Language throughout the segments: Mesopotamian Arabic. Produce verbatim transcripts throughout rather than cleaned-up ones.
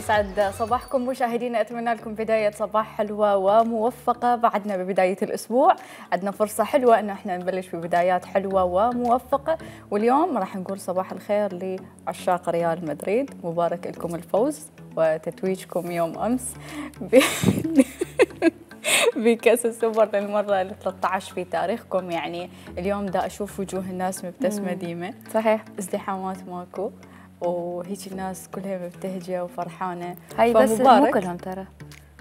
يسعد صباحكم مشاهدينا، اتمنى لكم بدايه صباح حلوه وموفقه. بعدنا ببدايه الاسبوع، عندنا فرصه حلوه ان احنا نبلش ببدايات حلوه وموفقه، واليوم راح نقول صباح الخير لعشاق ريال مدريد. مبارك لكم الفوز وتتويجكم يوم امس ب... بكأس السوبر للمرة ال ثلاثة عشر في تاريخكم. يعني اليوم دا أشوف وجوه الناس مبتسمة ديمة، صحيح، ازدحامات ماكو، وهيك الناس كلها مبتهجة وفرحانة. هاي بس مو كلهم ترى،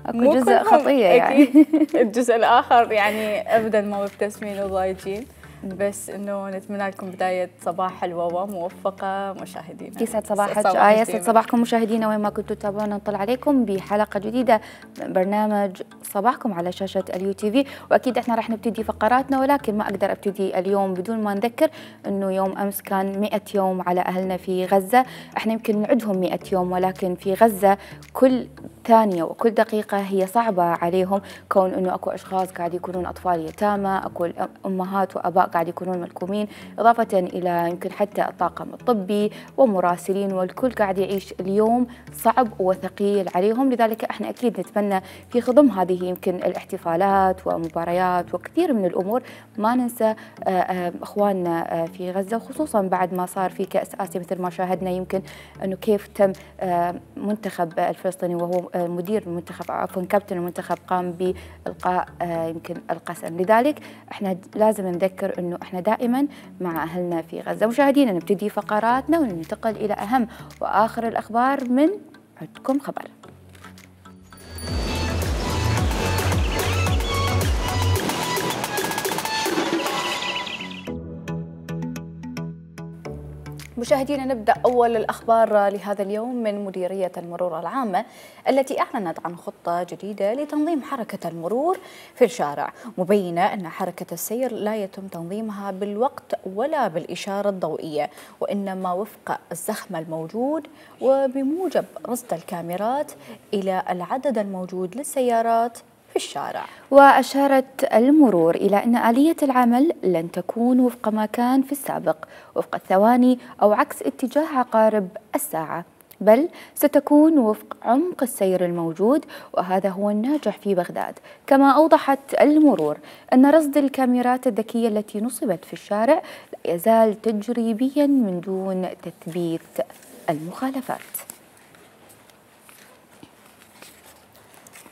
اكو جزء خطية يعني الجزء الآخر يعني أبدا ما مبتسمين وضايجين، بس انه نتمنى لكم بدايه صباح حلوه وموفقه مشاهدينا. يسعد صباحك آية، يسعد صباحكم مشاهدينا وين ما كنتوا تتابعونا. نطلع عليكم بحلقه جديده من برنامج صباحكم على شاشه اليو تي في، واكيد احنا راح نبتدي فقراتنا، ولكن ما اقدر ابتدي اليوم بدون ما نذكر انه يوم امس كان مئة يوم على اهلنا في غزه. احنا يمكن نعدهم مئة يوم، ولكن في غزه كل ثانيه وكل دقيقه هي صعبه عليهم، كون انه اكو اشخاص قاعد يكونون اطفال يتامى، اكو امهات واباء قاعد يكونون ملكومين، إضافة إلى يمكن حتى الطاقم الطبي ومراسلين، والكل قاعد يعيش اليوم صعب وثقيل عليهم. لذلك احنا أكيد نتمنى في خضم هذه يمكن الاحتفالات ومباريات وكثير من الأمور ما ننسى إخواننا في غزة، وخصوصا بعد ما صار في كأس آسيا مثل ما شاهدنا، يمكن أنه كيف تم منتخب الفلسطيني وهو مدير المنتخب عفوا كابتن المنتخب قام بإلقاء يمكن القسم. لذلك احنا لازم نذكر انه احنا دائما مع اهلنا في غزه. مشاهدينا نبتدي فقراتنا وننتقل الى اهم واخر الاخبار من عندكم خبر. مشاهدينا نبدأ أول الأخبار لهذا اليوم من مديرية المرور العامة التي أعلنت عن خطة جديدة لتنظيم حركة المرور في الشارع، مبينة أن حركة السير لا يتم تنظيمها بالوقت ولا بالإشارة الضوئية، وإنما وفق الزخم الموجود وبموجب رصد الكاميرات إلى العدد الموجود للسيارات في الشارع. وأشارت المرور إلى أن آلية العمل لن تكون وفق ما كان في السابق وفق الثواني أو عكس اتجاه عقارب الساعة، بل ستكون وفق عمق السير الموجود، وهذا هو الناجح في بغداد. كما أوضحت المرور أن رصد الكاميرات الذكية التي نصبت في الشارع لا يزال تجريبيا من دون تثبيت المخالفات.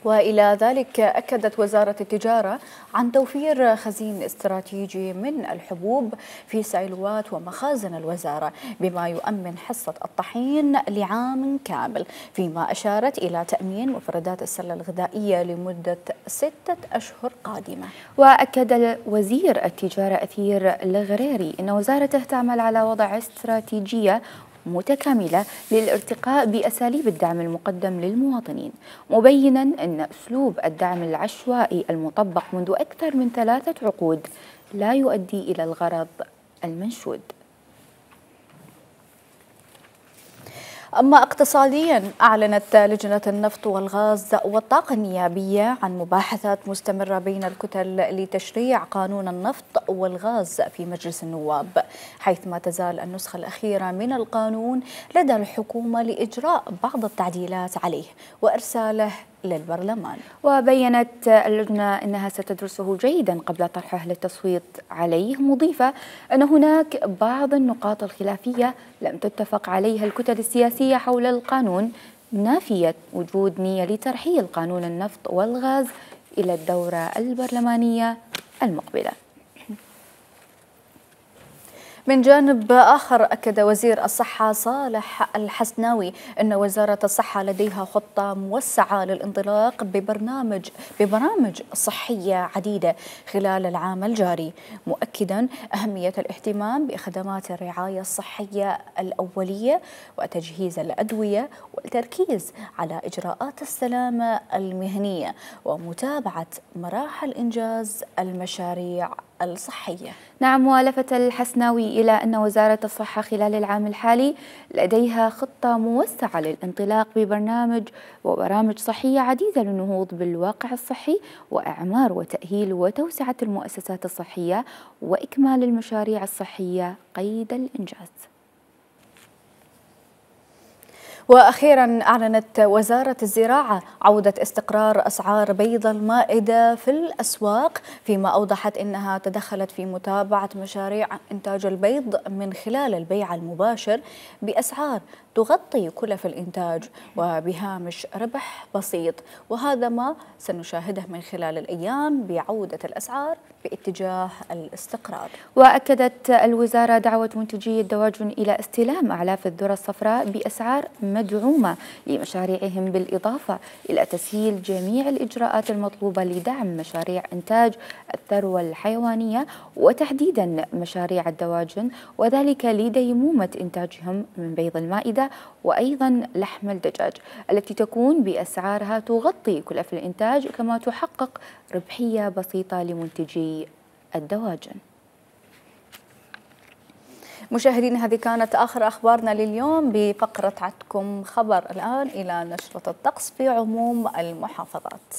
وإلى ذلك أكدت وزارة التجارة عن توفير خزين استراتيجي من الحبوب في سيلوات ومخازن الوزارة، بما يؤمن حصة الطحين لعام كامل، فيما أشارت إلى تأمين مفردات السلة الغذائية لمدة ستة أشهر قادمة. وأكد وزير التجارة أثير الغريري أن وزارته تعمل على وضع استراتيجية متكاملة للارتقاء بأساليب الدعم المقدم للمواطنين، مبينا أن أسلوب الدعم العشوائي المطبق منذ أكثر من ثلاثة عقود لا يؤدي إلى الغرض المنشود. أما اقتصاديا، أعلنت لجنة النفط والغاز والطاقة النيابية عن مباحثات مستمرة بين الكتل لتشريع قانون النفط والغاز في مجلس النواب، حيث ما تزال النسخة الأخيرة من القانون لدى الحكومة لإجراء بعض التعديلات عليه وإرساله للبرلمان. وبينت اللجنة أنها ستدرسه جيدا قبل طرحه للتصويت عليه، مضيفة أن هناك بعض النقاط الخلافية لم تتفق عليها الكتل السياسية حول القانون، نافية وجود نية لترحيل قانون النفط والغاز إلى الدورة البرلمانية المقبلة. من جانب آخر، أكد وزير الصحة صالح الحسناوي أن وزارة الصحة لديها خطة موسعة للانطلاق ببرنامج ببرامج صحية عديدة خلال العام الجاري، مؤكدا أهمية الاهتمام بخدمات الرعاية الصحية الأولية وتجهيز الأدوية والتركيز على إجراءات السلامة المهنية ومتابعة مراحل إنجاز المشاريع الصحية. نعم، ولفت الحسناوي إلى أن وزارة الصحة خلال العام الحالي لديها خطة موسعة للانطلاق ببرنامج وبرامج صحية عديدة للنهوض بالواقع الصحي وإعمار وتأهيل وتوسعة المؤسسات الصحية وإكمال المشاريع الصحية قيد الإنجاز. وأخيرا أعلنت وزارة الزراعة عودة استقرار أسعار بيض المائدة في الأسواق، فيما أوضحت أنها تدخلت في متابعة مشاريع إنتاج البيض من خلال البيع المباشر بأسعار تغطي كلف الإنتاج وبهامش ربح بسيط، وهذا ما سنشاهده من خلال الأيام بعودة الأسعار باتجاه الاستقرار. وأكدت الوزارة دعوة منتجي الدواجن إلى استلام أعلاف الذرة الصفراء بأسعار مدعومة لمشاريعهم، بالإضافة إلى تسهيل جميع الإجراءات المطلوبة لدعم مشاريع إنتاج الثروة الحيوانية وتحديدا مشاريع الدواجن، وذلك لديمومة إنتاجهم من بيض المائدة وأيضا لحم الدجاج التي تكون بأسعارها تغطي كلف الإنتاج، كما تحقق ربحية بسيطة لمنتجي الدواجن. مشاهدينا، هذه كانت آخر أخبارنا لليوم بفقرة عدكم خبر. الآن إلى نشرة الطقس في عموم المحافظات.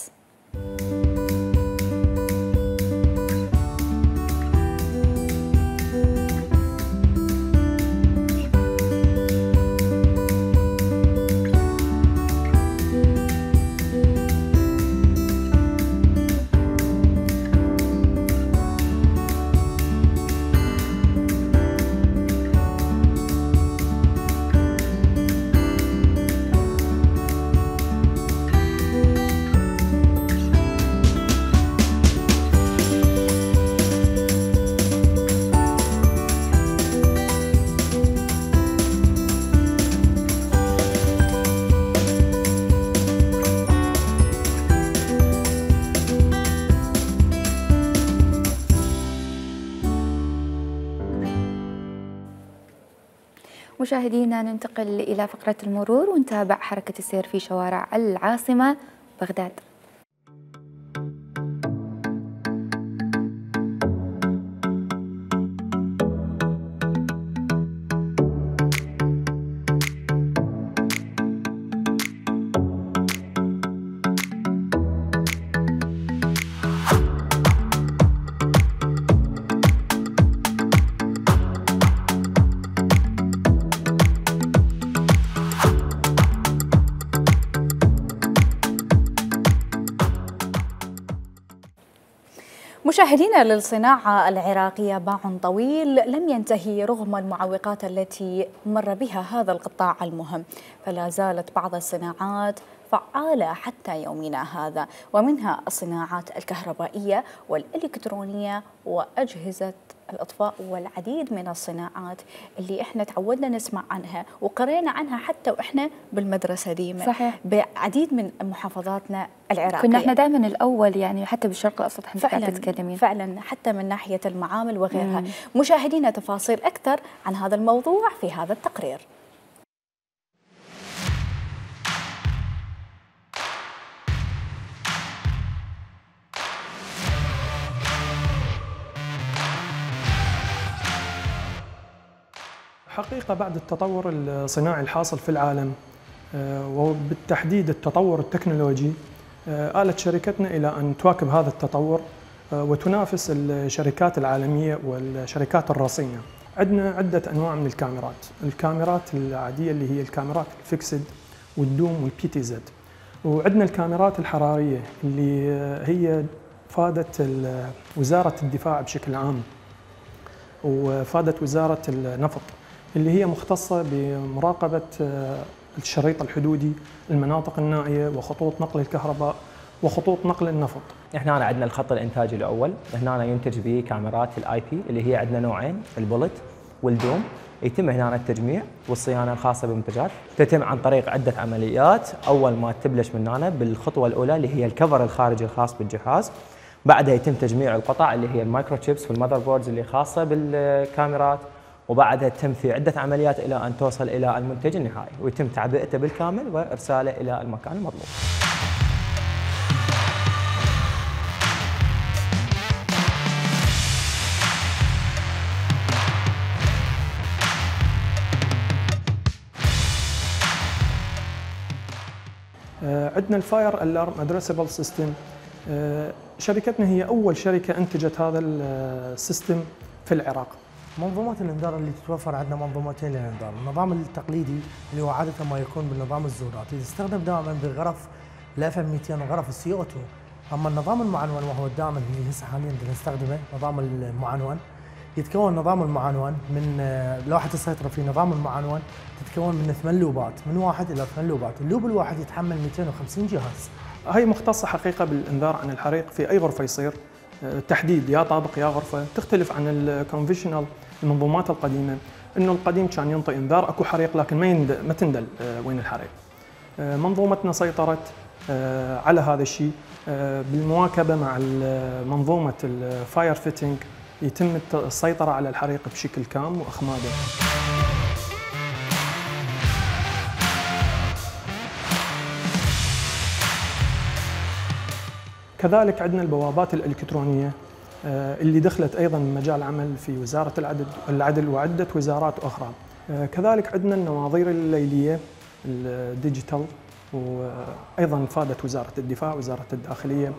مشاهدينا، ننتقل إلى فقرة المرور ونتابع حركة السير في شوارع العاصمة بغداد. مشاهدينا، للصناعة العراقية باع طويل لم ينتهي رغم المعوقات التي مر بها هذا القطاع المهم، فلا زالت بعض الصناعات فعالة حتى يومنا هذا، ومنها الصناعات الكهربائية والإلكترونية وأجهزة الإطفاء والعديد من الصناعات اللي احنا تعودنا نسمع عنها وقرينا عنها حتى واحنا بالمدرسة ديما. صحيح. بعديد من محافظاتنا العراقية كنا احنا دائما الأول، يعني حتى بالشرق الأوسط احنا فعلا تتكلمين فعلا حتى من ناحية المعامل وغيرها. مم. مشاهدينا، تفاصيل أكثر عن هذا الموضوع في هذا التقرير. حقيقة بعد التطور الصناعي الحاصل في العالم وبالتحديد التطور التكنولوجي، آلت شركتنا إلى أن تواكب هذا التطور وتنافس الشركات العالمية والشركات الرصينة. عندنا عدة أنواع من الكاميرات، الكاميرات العادية اللي هي الكاميرات الفيكسد والدوم والبي تي زد، وعندنا الكاميرات الحرارية اللي هي فادت وزارة الدفاع بشكل عام وفادت وزارة النفط، اللي هي مختصة بمراقبة الشريط الحدودي، المناطق النائية وخطوط نقل الكهرباء وخطوط نقل النفط. احنا هنا عندنا الخط الانتاجي الاول، هنا ينتج به كاميرات الاي بي اللي هي عندنا نوعين، البولت والدوم. يتم هنا التجميع والصيانه الخاصه بالمنتجات، تتم عن طريق عده عمليات. اول ما تبلش من هنا بالخطوه الاولى اللي هي الكفر الخارجي الخاص بالجهاز، بعدها يتم تجميع القطع اللي هي المايكرو تشيبس والمذر بوردز اللي خاصه بالكاميرات، وبعدها تتم في عده عمليات الى ان توصل الى المنتج النهائي ويتم تعبئته بالكامل وارساله الى المكان المطلوب. عندنا الفاير الارم ادريسبل سيستم. شركتنا هي اول شركه انتجت هذا السيستم في العراق. منظومات الانذار اللي تتوفر عندنا منظومتين للانذار، النظام التقليدي اللي هو عاده ما يكون بالنظام الزوراتي يستخدم دائما بغرف الاف ام مئتين وغرف السي او اثنين، اما النظام المعنون وهو الدائما اللي هسه حاليا نستخدمه نظام المعنون، يتكون نظام المعنون من لوحه السيطره في نظام المعنون تتكون من ثمان لوبات من واحد الى ثمان لوبات، اللوب الواحد يتحمل مئتين وخمسين جهاز. هي مختصه حقيقه بالانذار عن الحريق في اي غرفه يصير، تحديد يا طابق يا غرفه، تختلف عن الكونفشنال المنظومات القديمه، انه القديم كان ينطي انذار اكو حريق لكن ما ما تندل وين الحريق. منظومتنا سيطرت على هذا الشيء بالمواكبه مع منظومه الفاير فيتنج، يتم السيطره على الحريق بشكل كام واخماده. كذلك عندنا البوابات الالكترونيه اللي دخلت ايضا مجال عمل في وزاره العدل العدل وعده وزارات اخرى. كذلك عندنا النواظير الليليه الديجيتال، وايضا فادت وزاره الدفاع وزاره الداخليه.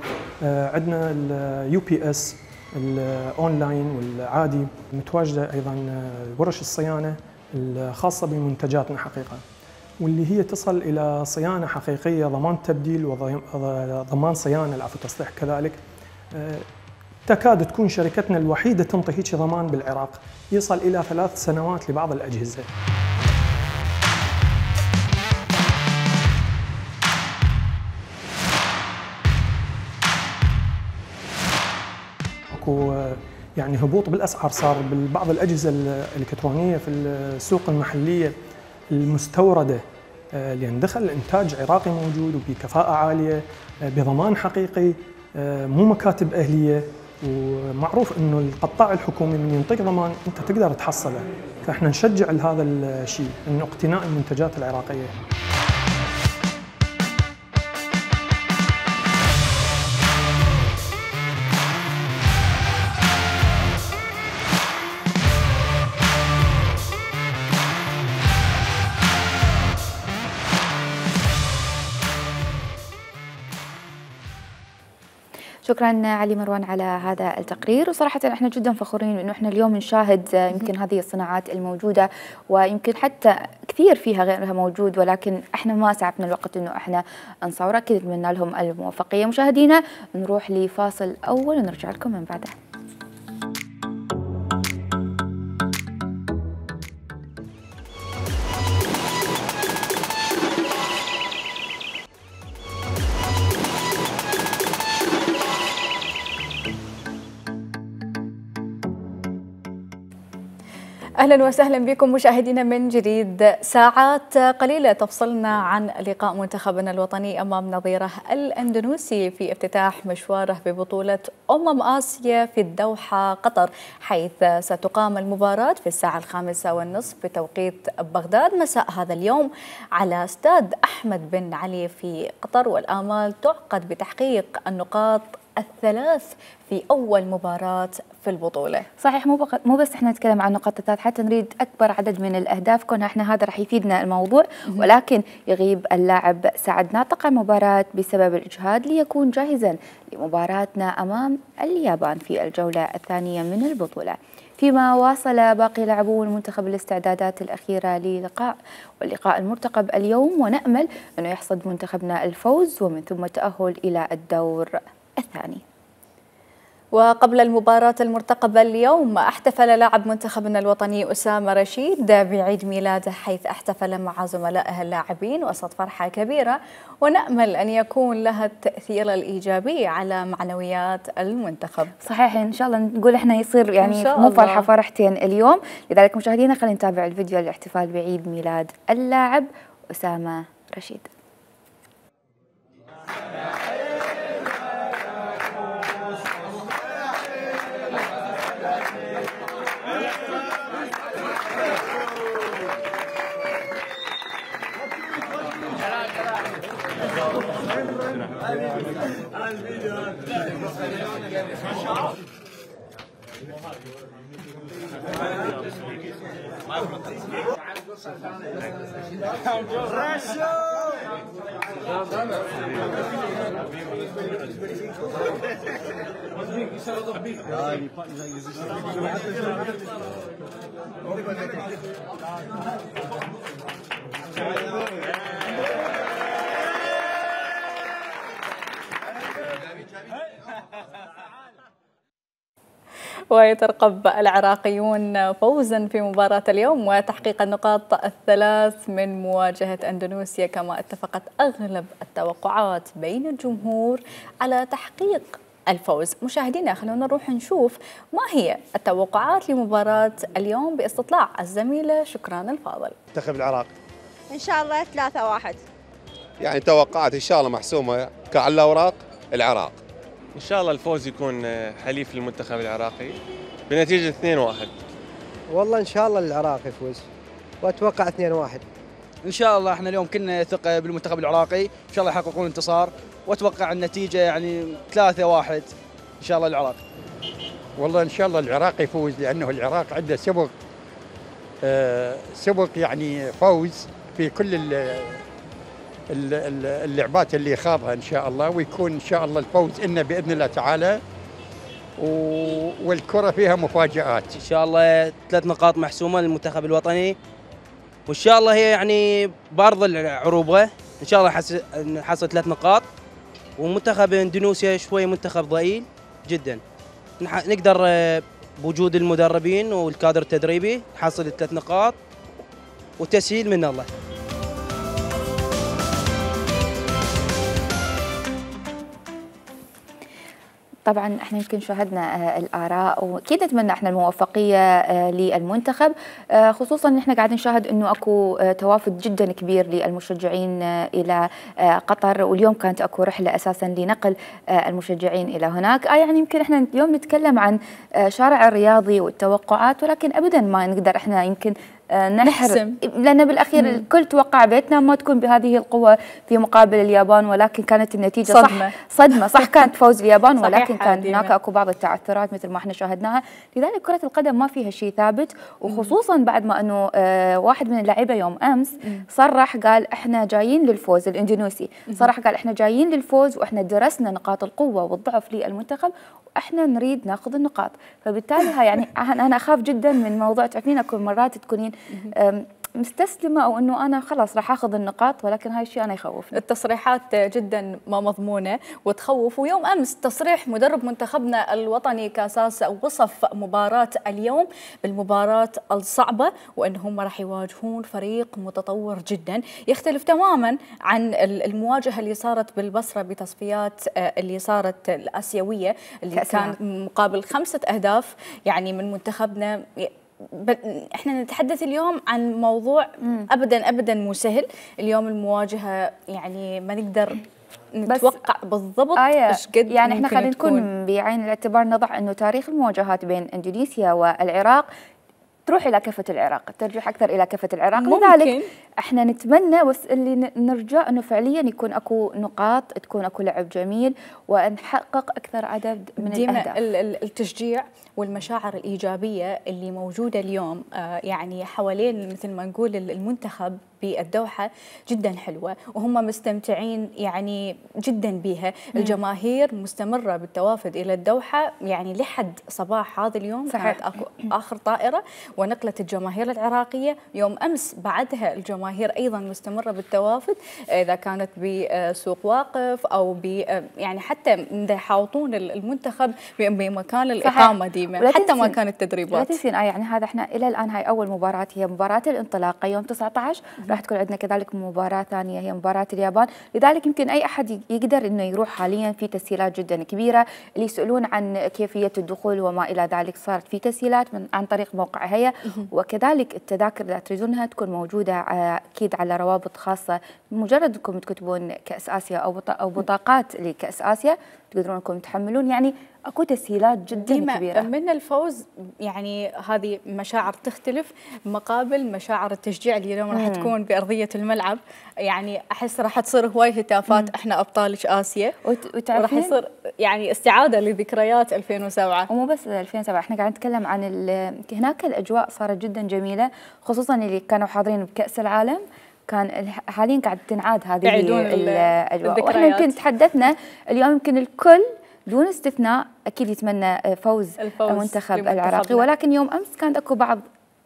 عندنا اليو بي اس الاونلاين والعادي، متواجده ايضا ورش الصيانه الخاصه بمنتجاتنا حقيقه، واللي هي تصل الى صيانه حقيقيه، ضمان تبديل وضمان صيانه العفو تصليح. كذلك تكاد تكون شركتنا الوحيده تنطي هيك ضمان بالعراق يصل الى ثلاث سنوات لبعض الاجهزه. اكو يعني هبوط بالاسعار صار ببعض الاجهزه الالكترونيه في السوق المحليه المستورده، لان دخل انتاج عراقي موجود وبكفاءه عاليه بضمان حقيقي، مو مكاتب اهليه، ومعروف انه القطاع الحكومي من ينطيك ضمان انت تقدر تحصله، فاحنا نشجع لهذا الشيء انه اقتناء المنتجات العراقيه. شكرا علي مروان على هذا التقرير، وصراحة احنا جدا فخورين انه احنا اليوم نشاهد يمكن هذه الصناعات الموجودة، ويمكن حتى كثير فيها غيرها موجود، ولكن احنا ما سعفنا الوقت انه احنا نصورها. اكيد نتمنى لهم الموفقية. مشاهدينا نروح لفاصل اول ونرجع لكم من بعده. أهلا وسهلا بكم مشاهدينا من جديد. ساعات قليلة تفصلنا عن لقاء منتخبنا الوطني أمام نظيره الأندونيسي في افتتاح مشواره ببطولة أمم آسيا في الدوحة قطر، حيث ستقام المباراة في الساعة الخامسة والنصف بتوقيت بغداد مساء هذا اليوم على استاد أحمد بن علي في قطر، والآمال تعقد بتحقيق النقاط الثلاث في أول مباراة في البطولة. صحيح، مو مو بس احنا نتكلم عن نقاط الثلاث، حتى نريد أكبر عدد من الأهداف، كونها احنا هذا راح يفيدنا الموضوع، ولكن يغيب اللاعب سعد ناطق المباراة بسبب الإجهاد ليكون جاهزا لمباراتنا أمام اليابان في الجولة الثانية من البطولة. فيما واصل باقي لاعبو المنتخب الاستعدادات الأخيرة للقاء واللقاء المرتقب اليوم، ونأمل أنه يحصد منتخبنا الفوز ومن ثم التأهل إلى الدور الثاني. وقبل المباراة المرتقبة اليوم احتفل لاعب منتخبنا الوطني أسامة رشيد بعيد ميلاده، حيث احتفل مع زملائه اللاعبين وسط فرحة كبيرة، ونأمل أن يكون لها التأثير الإيجابي على معنويات المنتخب. صحيح، إن شاء الله نقول احنا يصير يعني مو فرحة فرحتين اليوم. لذلك مشاهدينا خلينا نتابع الفيديو الاحتفال بعيد ميلاد اللاعب أسامة رشيد. Russia! ويترقب العراقيون فوزا في مباراة اليوم وتحقيق النقاط الثلاث من مواجهة أندونيسيا، كما اتفقت أغلب التوقعات بين الجمهور على تحقيق الفوز. مشاهدينا خلونا نروح نشوف ما هي التوقعات لمباراة اليوم باستطلاع الزميلة شكران الفاضل. منتخب العراق إن شاء الله ثلاثة واحد. يعني توقعات إن شاء الله محسومة كعلى الأوراق العراق. إن شاء الله الفوز يكون حليف للمنتخب العراقي بنتيجة اثنين واحد. والله إن شاء الله العراق يفوز وأتوقع اثنين واحد. إن شاء الله احنا اليوم كنا ثقة بالمنتخب العراقي، إن شاء الله يحققون انتصار وأتوقع النتيجة يعني ثلاثة واحد إن شاء الله العراق. والله إن شاء الله العراق يفوز لأنه العراق عنده سبق آه سبق يعني فوز في كل اللعبات اللي خاضها إن شاء الله، ويكون إن شاء الله الفوز إنه بإذن الله تعالى، والكرة فيها مفاجآت. إن شاء الله ثلاث نقاط محسومة للمنتخب الوطني، وإن شاء الله هي يعني بارض العروبة، إن شاء الله نحصل ثلاث نقاط. ومنتخب اندونيسيا شوي منتخب ضئيل جدا، نقدر بوجود المدربين والكادر التدريبي نحصل ثلاث نقاط وتسهيل من الله. طبعا احنا يمكن شاهدنا الاراء واكيد نتمنى احنا الموفقيه للمنتخب، خصوصا ان احنا قاعدين نشاهد انه اكو توافد جدا كبير للمشجعين الى قطر، واليوم كانت اكو رحله اساسا لنقل المشجعين الى هناك. آه يعني يمكن احنا اليوم نتكلم عن شارع الرياضي والتوقعات، ولكن ابدا ما نقدر احنا يمكن نحر، لأن بالأخير مم. الكل توقع بيتنا ما تكون بهذه القوة في مقابل اليابان، ولكن كانت النتيجة صدمة. صح صدمة صح كانت فوز اليابان، ولكن كان هناك أكو بعض التعثرات مثل ما احنا شاهدناها. لذلك كرة القدم ما فيها شيء ثابت، وخصوصا بعد ما أنه آه واحد من اللعيبة يوم أمس صرح قال احنا جايين للفوز، الاندونيسي صرح قال احنا جايين للفوز واحنا درسنا نقاط القوة والضعف للمنتخب واحنا نريد ناخذ النقاط. فبالتالي يعني انا اخاف جدا من موضوع، تعرفين اكو مرات تكونين مستسلمه او انه انا خلاص راح اخذ النقاط، ولكن هاي الشيء انا يخوفني. التصريحات جدا ما مضمونه وتخوف. ويوم امس تصريح مدرب منتخبنا الوطني كاساس وصف مباراه اليوم بالمباراه الصعبه، وان هم راح يواجهون فريق متطور جدا يختلف تماما عن المواجهه اللي صارت بالبصره بتصفيات اللي صارت الاسيويه اللي كان مقابل خمسه اهداف يعني من منتخبنا. احنا نتحدث اليوم عن موضوع مم. ابدا ابدا مو سهل. اليوم المواجهه يعني ما نقدر نتوقع بالضبط ايش قد يعني احنا خلينا نكون بعين الاعتبار نضع انه تاريخ المواجهات بين اندونيسيا والعراق تروح الى كفه العراق، ترجح اكثر الى كفه العراق. ممكن. لذلك احنا نتمنى بس اللي نرجع انه فعليا يكون اكو نقاط، تكون اكو لعب جميل، ونحقق اكثر عدد من الاهداف. التشجيع والمشاعر الايجابيه اللي موجوده اليوم آه يعني حوالين مثل ما نقول المنتخب بالدوحه جدا حلوه، وهم مستمتعين يعني جدا بها. مم. الجماهير مستمره بالتوافد الى الدوحه يعني لحد صباح هذا اليوم. صحيح. كانت اكو اخر طائره ونقلت الجماهير العراقيه. يوم امس بعدها الجماهير ايضا مستمره بالتوافد، اذا كانت بسوق واقف او ب يعني حتى يحاوطون المنتخب بمكان الاقامه ديما، حتى ما كانت التدريبات. لا تنسين يعني هذا احنا الى الان هاي اول مباراه هي مباراه الانطلاقه يوم تسعة عشر، راح تكون عندنا كذلك مباراه ثانيه هي مباراه اليابان. لذلك يمكن اي احد يقدر انه يروح. حاليا في تسهيلات جدا كبيره، اللي يسالون عن كيفيه الدخول وما الى ذلك صارت في تسهيلات من عن طريق موقع هيا، وكذلك التذاكر اذا تريدونها تكون موجوده اكيد على روابط خاصه. مجرد انكم تكتبون كاس اسيا او او بطاقات لكاس اسيا تقدرون انكم تحملون. يعني اكو تسهيلات جدا كبيره من الفوز. يعني هذه مشاعر تختلف مقابل مشاعر التشجيع اللي اليوم راح تكون بارضيه الملعب. يعني احس راح تصير هواي هتافات مم. احنا ابطال اسيا، وراح يصير يعني استعاده لذكريات ألفين وسبعة. ومو بس ألفين وسبعة، احنا قاعد نتكلم عن هناك الاجواء صارت جدا جميله، خصوصا اللي كانوا حاضرين بكاس العالم. كان حاليا قاعد تنعاد هذه الاجواء، واحنا يمكن تحدثنا اليوم يمكن الكل دون استثناء اكيد يتمنى فوز المنتخب العراقي، ولكن يوم امس كان اكو بعض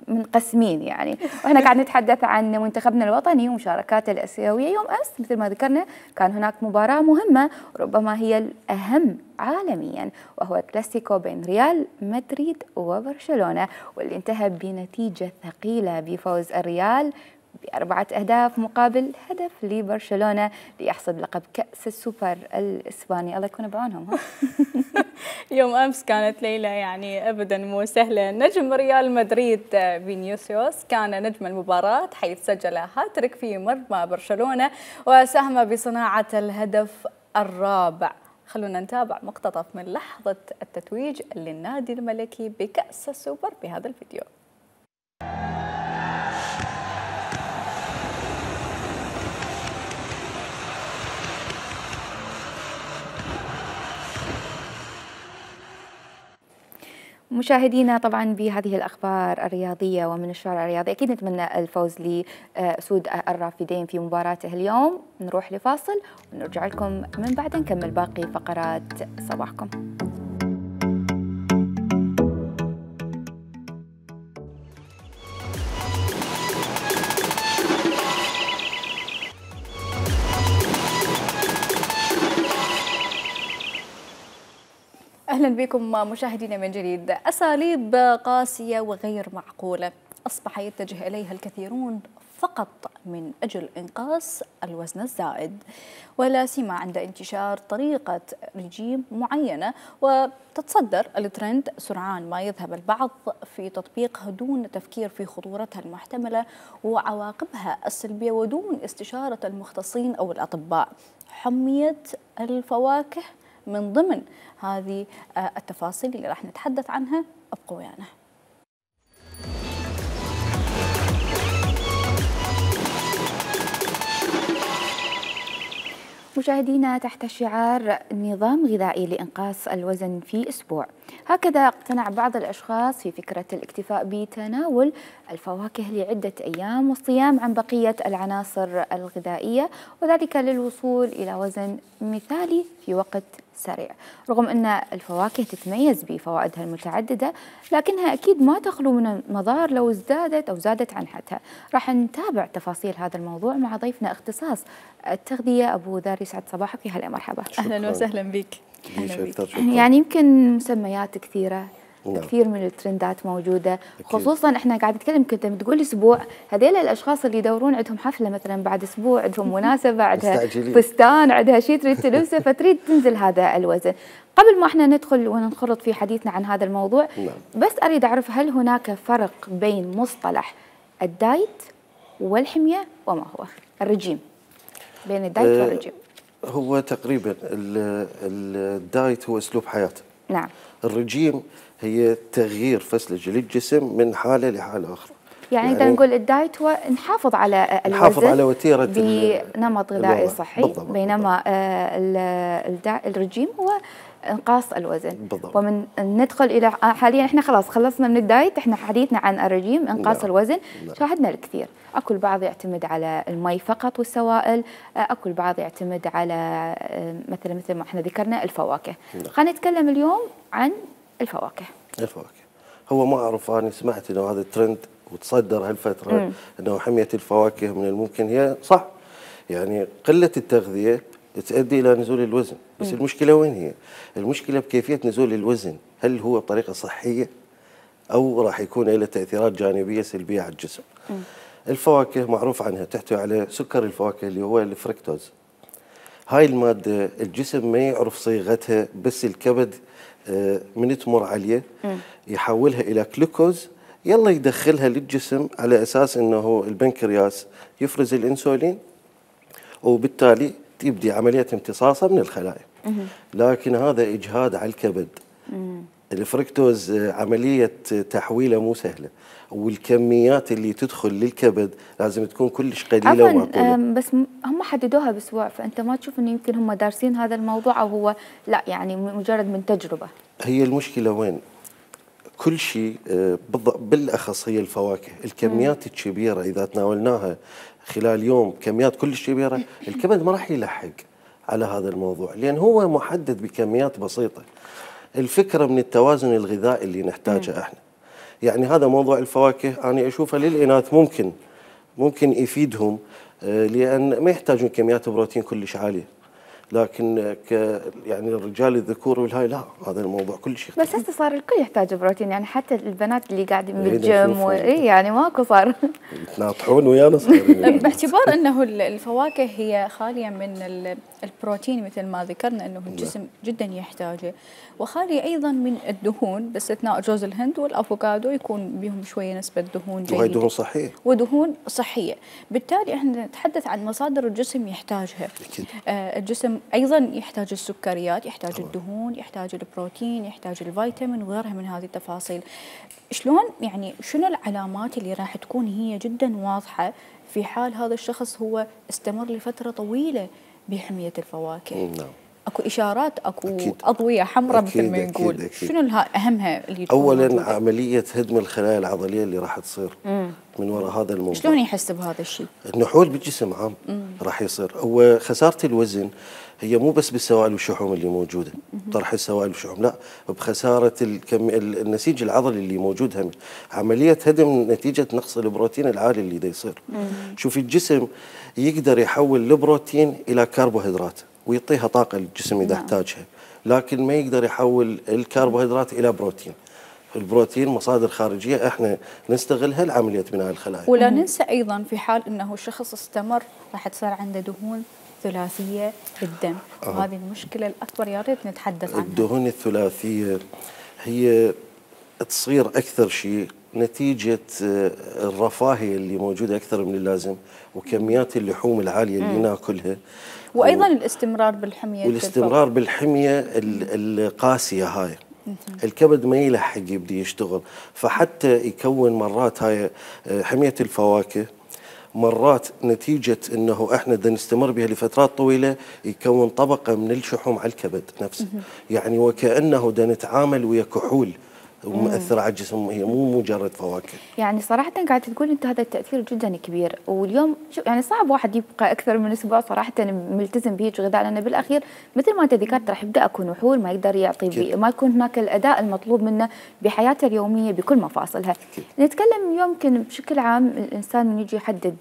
منقسمين يعني، واحنا قاعد نتحدث عن منتخبنا الوطني ومشاركاته الاسيويه. يوم امس مثل ما ذكرنا كان هناك مباراه مهمه ربما هي الاهم عالميا، وهو كلاسيكو بين ريال مدريد وبرشلونه، واللي انتهى بنتيجه ثقيله بفوز الريال بأربعة أهداف مقابل هدف لبرشلونة ليحصد لقب كأس السوبر الإسباني. الله يكون بعونهم. يوم أمس كانت ليلة يعني أبدا مو سهلة. نجم ريال مدريد فينيسيوس كان نجم المباراة، حيث سجل هاتريك في مرمى برشلونة وساهم بصناعة الهدف الرابع. خلونا نتابع مقتطف من لحظة التتويج للنادي الملكي بكأس السوبر بهذا الفيديو. مشاهدينا طبعا بهذه الأخبار الرياضية ومن الشارع الرياضي أكيد نتمنى الفوز لأسود الرافدين في مباراته اليوم. نروح لفاصل ونرجع لكم من بعد نكمل باقي فقرات صباحكم. أهلا بكم مشاهدينا من جديد. أساليب قاسية وغير معقولة أصبح يتجه إليها الكثيرون فقط من أجل إنقاص الوزن الزائد، ولا سيما عند انتشار طريقة رجيم معينة وتتصدر الترند سرعان ما يذهب البعض في تطبيقها دون تفكير في خطورتها المحتملة وعواقبها السلبية ودون استشارة المختصين أو الأطباء. حمية الفواكه من ضمن هذه التفاصيل اللي راح نتحدث عنها. ابقوا ويانا. مشاهدينا، تحت شعار نظام غذائي لإنقاص الوزن في أسبوع، هكذا اقتنع بعض الأشخاص في فكرة الاكتفاء بتناول الفواكه لعدة أيام والصيام عن بقية العناصر الغذائية، وذلك للوصول إلى وزن مثالي في وقت سريع. رغم أن الفواكه تتميز بفوائدها المتعددة، لكنها أكيد ما تخلو من المضار لو ازدادت أو زادت عن حدها. راح نتابع تفاصيل هذا الموضوع مع ضيفنا اختصاص التغذية أبو ذار. يسعد صباحك. يا هلا مرحبا. أهلا وسهلا بك. يعني يمكن مسميات كثيرة، نعم. كثير من الترندات موجودة، أكيد. خصوصا احنا قاعد نتكلم كنت بتقول اسبوع، هذيل الاشخاص اللي يدورون عندهم حفله مثلا بعد اسبوع، عندهم مناسبه، عندها فستان، عندها شيء تريد تلبسه، فتريد تنزل هذا الوزن. قبل ما احنا ندخل وننخرط في حديثنا عن هذا الموضوع، نعم. بس اريد اعرف هل هناك فرق بين مصطلح الدايت والحميه وما هو الرجيم؟ بين الدايت أه والرجيم. هو تقريبا الدايت هو اسلوب حياه. نعم. الرجيم هي تغيير فسلجة للجسم من حالة لحالة أخرى. يعني, يعني إذا نقول الدايت هو نحافظ على الوزن، نحافظ على وتيرة بنمط غذائي صحي. بالضبط. بينما بالضبط. الرجيم هو انقاص الوزن. بالضبط. ومن ندخل إلى حاليا احنا خلاص خلصنا من الدايت، احنا حديثنا عن الرجيم انقاص لا. الوزن. لا. شاهدنا الكثير، اكو البعض يعتمد على المي فقط والسوائل، اكو البعض يعتمد على مثلا مثل ما احنا ذكرنا الفواكه. خلينا نتكلم اليوم عن الفواكه. الفواكه هو ما أعرف، أنا سمعت إنه هذا الترند وتصدر هالفترة مم. إنه حمية الفواكه من الممكن، هي صح، يعني قلة التغذية تؤدي إلى نزول الوزن، بس مم. المشكلة وين هي؟ المشكلة بكيفية نزول الوزن، هل هو بطريقة صحية أو راح يكون له تأثيرات جانبية سلبية على الجسم؟ مم. الفواكه معروف عنها تحتوي على سكر الفواكه اللي هو الفركتوز. هاي المادة الجسم ما يعرف صيغتها، بس الكبد من تمر عليه يحولها إلى جلوكوز، يلا يدخلها للجسم على أساس أنه البنكرياس يفرز الإنسولين، وبالتالي تبدي عملية امتصاصها من الخلايا. لكن هذا إجهاد على الكبد. الفركتوز عملية تحويله مو سهلة، والكميات اللي تدخل للكبد لازم تكون كلش قليله ومعقوله. بس هم حددوها باسبوع، فانت ما تشوف انه يمكن هم دارسين هذا الموضوع، او هو لا يعني مجرد من تجربه؟ هي المشكله وين؟ كل شيء بالاخص هي الفواكه، الكميات الكبيره اذا تناولناها خلال يوم كميات كلش كبيره، الكبد ما راح يلحق على هذا الموضوع، لان هو محدد بكميات بسيطه. الفكره من التوازن الغذائي اللي نحتاجه م. احنا. يعني هذا موضوع الفواكه انا اشوفه للاناث ممكن ممكن يفيدهم، لان ما يحتاجون كميات بروتين كلش عاليه. لكن ك يعني الرجال الذكور والهاي لا، هذا الموضوع كلش بس هسه صار الكل يحتاج بروتين، يعني حتى البنات اللي قاعدين بالجيم و... اي يعني ماكو صار يتناطحون ويانا صايرين. باعتبار انه الفواكه هي خاليه من البروتين مثل ما ذكرنا انه الجسم جدا يحتاجه، وخاليه ايضا من الدهون باستثناء جوز الهند والافوكادو يكون بهم شويه نسبه دهون جيده. وهي دهون صحيه. ودهون صحيه، بالتالي احنا نتحدث عن مصادر الجسم يحتاجها. أكيد. آه الجسم ايضا يحتاج السكريات، يحتاج طبعا. الدهون، يحتاج البروتين، يحتاج الفيتامين وغيرها من هذه التفاصيل. شلون يعني شنو العلامات اللي راح تكون هي جدا واضحه في حال هذا الشخص هو استمر لفتره طويله بحميه الفواكه؟ نعم. اكو اشارات، اكو أكيد. اضويه حمراء مثل ما نقول. أكيد أكيد. شنو اهمها اللي تكون اولا موجودة؟ عمليه هدم الخلايا العضليه اللي راح تصير مم. من وراء هذا الموضوع. شلون يحس بهذا الشيء؟ النحول بالجسم عام مم. راح يصير. وخساره الوزن هي مو بس بالسوائل والشحوم اللي موجوده، طرح السوائل والشحوم، لا، بخساره الكم... النسيج العضلي اللي موجود هم. عمليه هدم نتيجه نقص البروتين العالي اللي دا يصير. شوفي الجسم يقدر يحول البروتين الى كربوهيدرات ويعطيها طاقه للجسم اذا احتاجها، لكن ما يقدر يحول الكربوهيدرات الى بروتين. البروتين مصادر خارجيه احنا نستغلها لعمليه بناء الخلايا. ولا ننسى ايضا في حال انه الشخص استمر راح تصير عنده دهون ثلاثيه بالدم، آه. وهذه المشكله الاكبر يا ريت نتحدث عنها. الدهون الثلاثيه هي تصير اكثر شيء نتيجه الرفاهيه اللي موجوده اكثر من اللازم، وكميات اللحوم العاليه اللي ناكلها، وايضا و... الاستمرار بالحميه والاستمرار الفوق. بالحميه القاسيه هاي. الكبد ما يلحق يبدي يشتغل، فحتى يكون مرات هاي حميه الفواكه مرات نتيجه انه احنا بدنا نستمر بها لفترات طويله يكون طبقه من الشحوم على الكبد نفسه، يعني وكانه بدنا نتعامل ويا كحول ومؤثره على الجسم، هي مو مجرد فواكه. يعني صراحه قاعد تقول انت هذا التاثير جدا كبير، واليوم يعني صعب واحد يبقى اكثر من اسبوع صراحه ملتزم بهيج غذاء، لان بالاخير مثل ما انت ذكرت راح يبدا اكو نحول، ما يقدر يعطي بي ما يكون هناك الاداء المطلوب منه بحياته اليوميه بكل مفاصلها. أكيد. نتكلم يمكن بشكل عام الانسان من يجي يحدد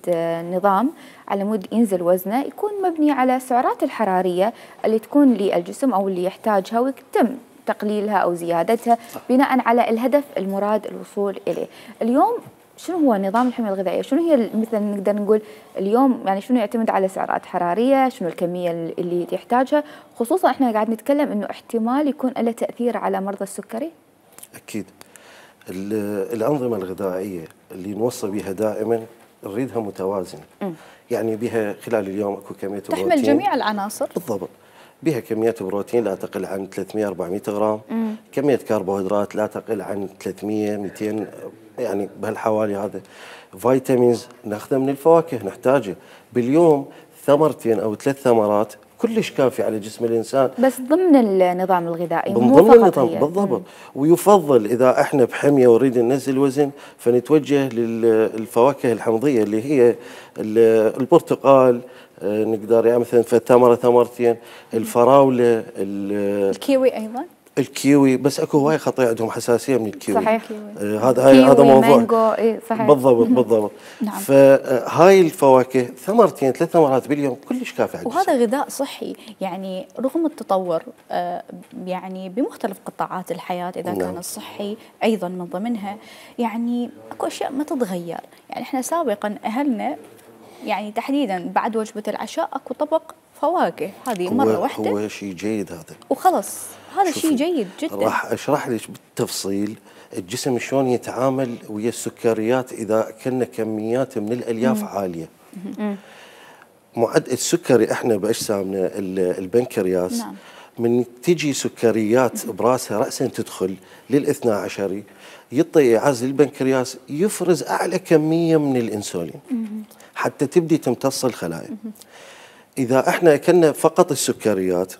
نظام على مود ينزل وزنه يكون مبني على السعرات الحراريه اللي تكون للجسم او اللي يحتاجها ويتم تقليلها أو زيادتها بناء على الهدف المراد الوصول إليه. اليوم شنو هو نظام الحمية الغذائية؟ شنو هي مثلا نقدر نقول اليوم يعني شنو يعتمد على سعرات حرارية؟ شنو الكمية اللي يحتاجها؟ خصوصا احنا قاعد نتكلم انه احتمال يكون له تأثير على مرضى السكري؟ أكيد. الأنظمة الغذائية اللي نوصى بها دائما نريدها متوازنة. م. يعني بها خلال اليوم اكو كمية بروتين تحمل جميع العناصر. بالضبط. بها كمية بروتين لا تقل عن ثلاثمئة أربعمئة غرام، مم. كمية كربوهيدرات لا تقل عن ثلاثمئة مئتين، يعني بهالحوالي هذا. فيتامينز ناخذه من الفواكه نحتاجه باليوم، ثمرتين أو ثلاث ثمرات كلش كافي على جسم الإنسان، بس ضمن النظام الغذائي مو ضمن النظام بالضبط. ويفضل إذا احنا بحمية ونريد ننزل وزن فنتوجه للفواكه الحمضية اللي هي البرتقال، نقدر يعني مثلا ثمره ثمرتين، الفراوله، الكيوي ايضا، الكيوي، بس اكو هواي خطايا عندهم حساسيه من الكيوي. صحيح. آه هذا هاي هذا موضوع مانجو. إيه صحيح. بالضبط بالضبط. نعم. فهاي الفواكه ثمرتين ثلاث ثمرات باليوم كلش كافي على وهذا غذاء صحي، يعني رغم التطور آه يعني بمختلف قطاعات الحياه اذا نعم. كان الصحي ايضا من ضمنها، يعني اكو اشياء ما تتغير. يعني احنا سابقا اهلنا يعني تحديدا بعد وجبه العشاء اكو طبق فواكه، هذه مره واحده هو شيء جيد هذا وخلص، هذا شيء جيد جدا. راح اشرح لك بالتفصيل الجسم شلون يتعامل ويا السكريات اذا اكلنا كميات من الالياف مم. عاليه. مم. معدل السكري احنا باجسامنا البنكرياس نعم. من تجي سكريات براسها راسا تدخل للاثنى عشري يعطي اعاز للبنكرياس يفرز اعلى كميه من الانسولين مم. حتى تبدي تمتص الخلايا. إذا احنا أكلنا فقط السكريات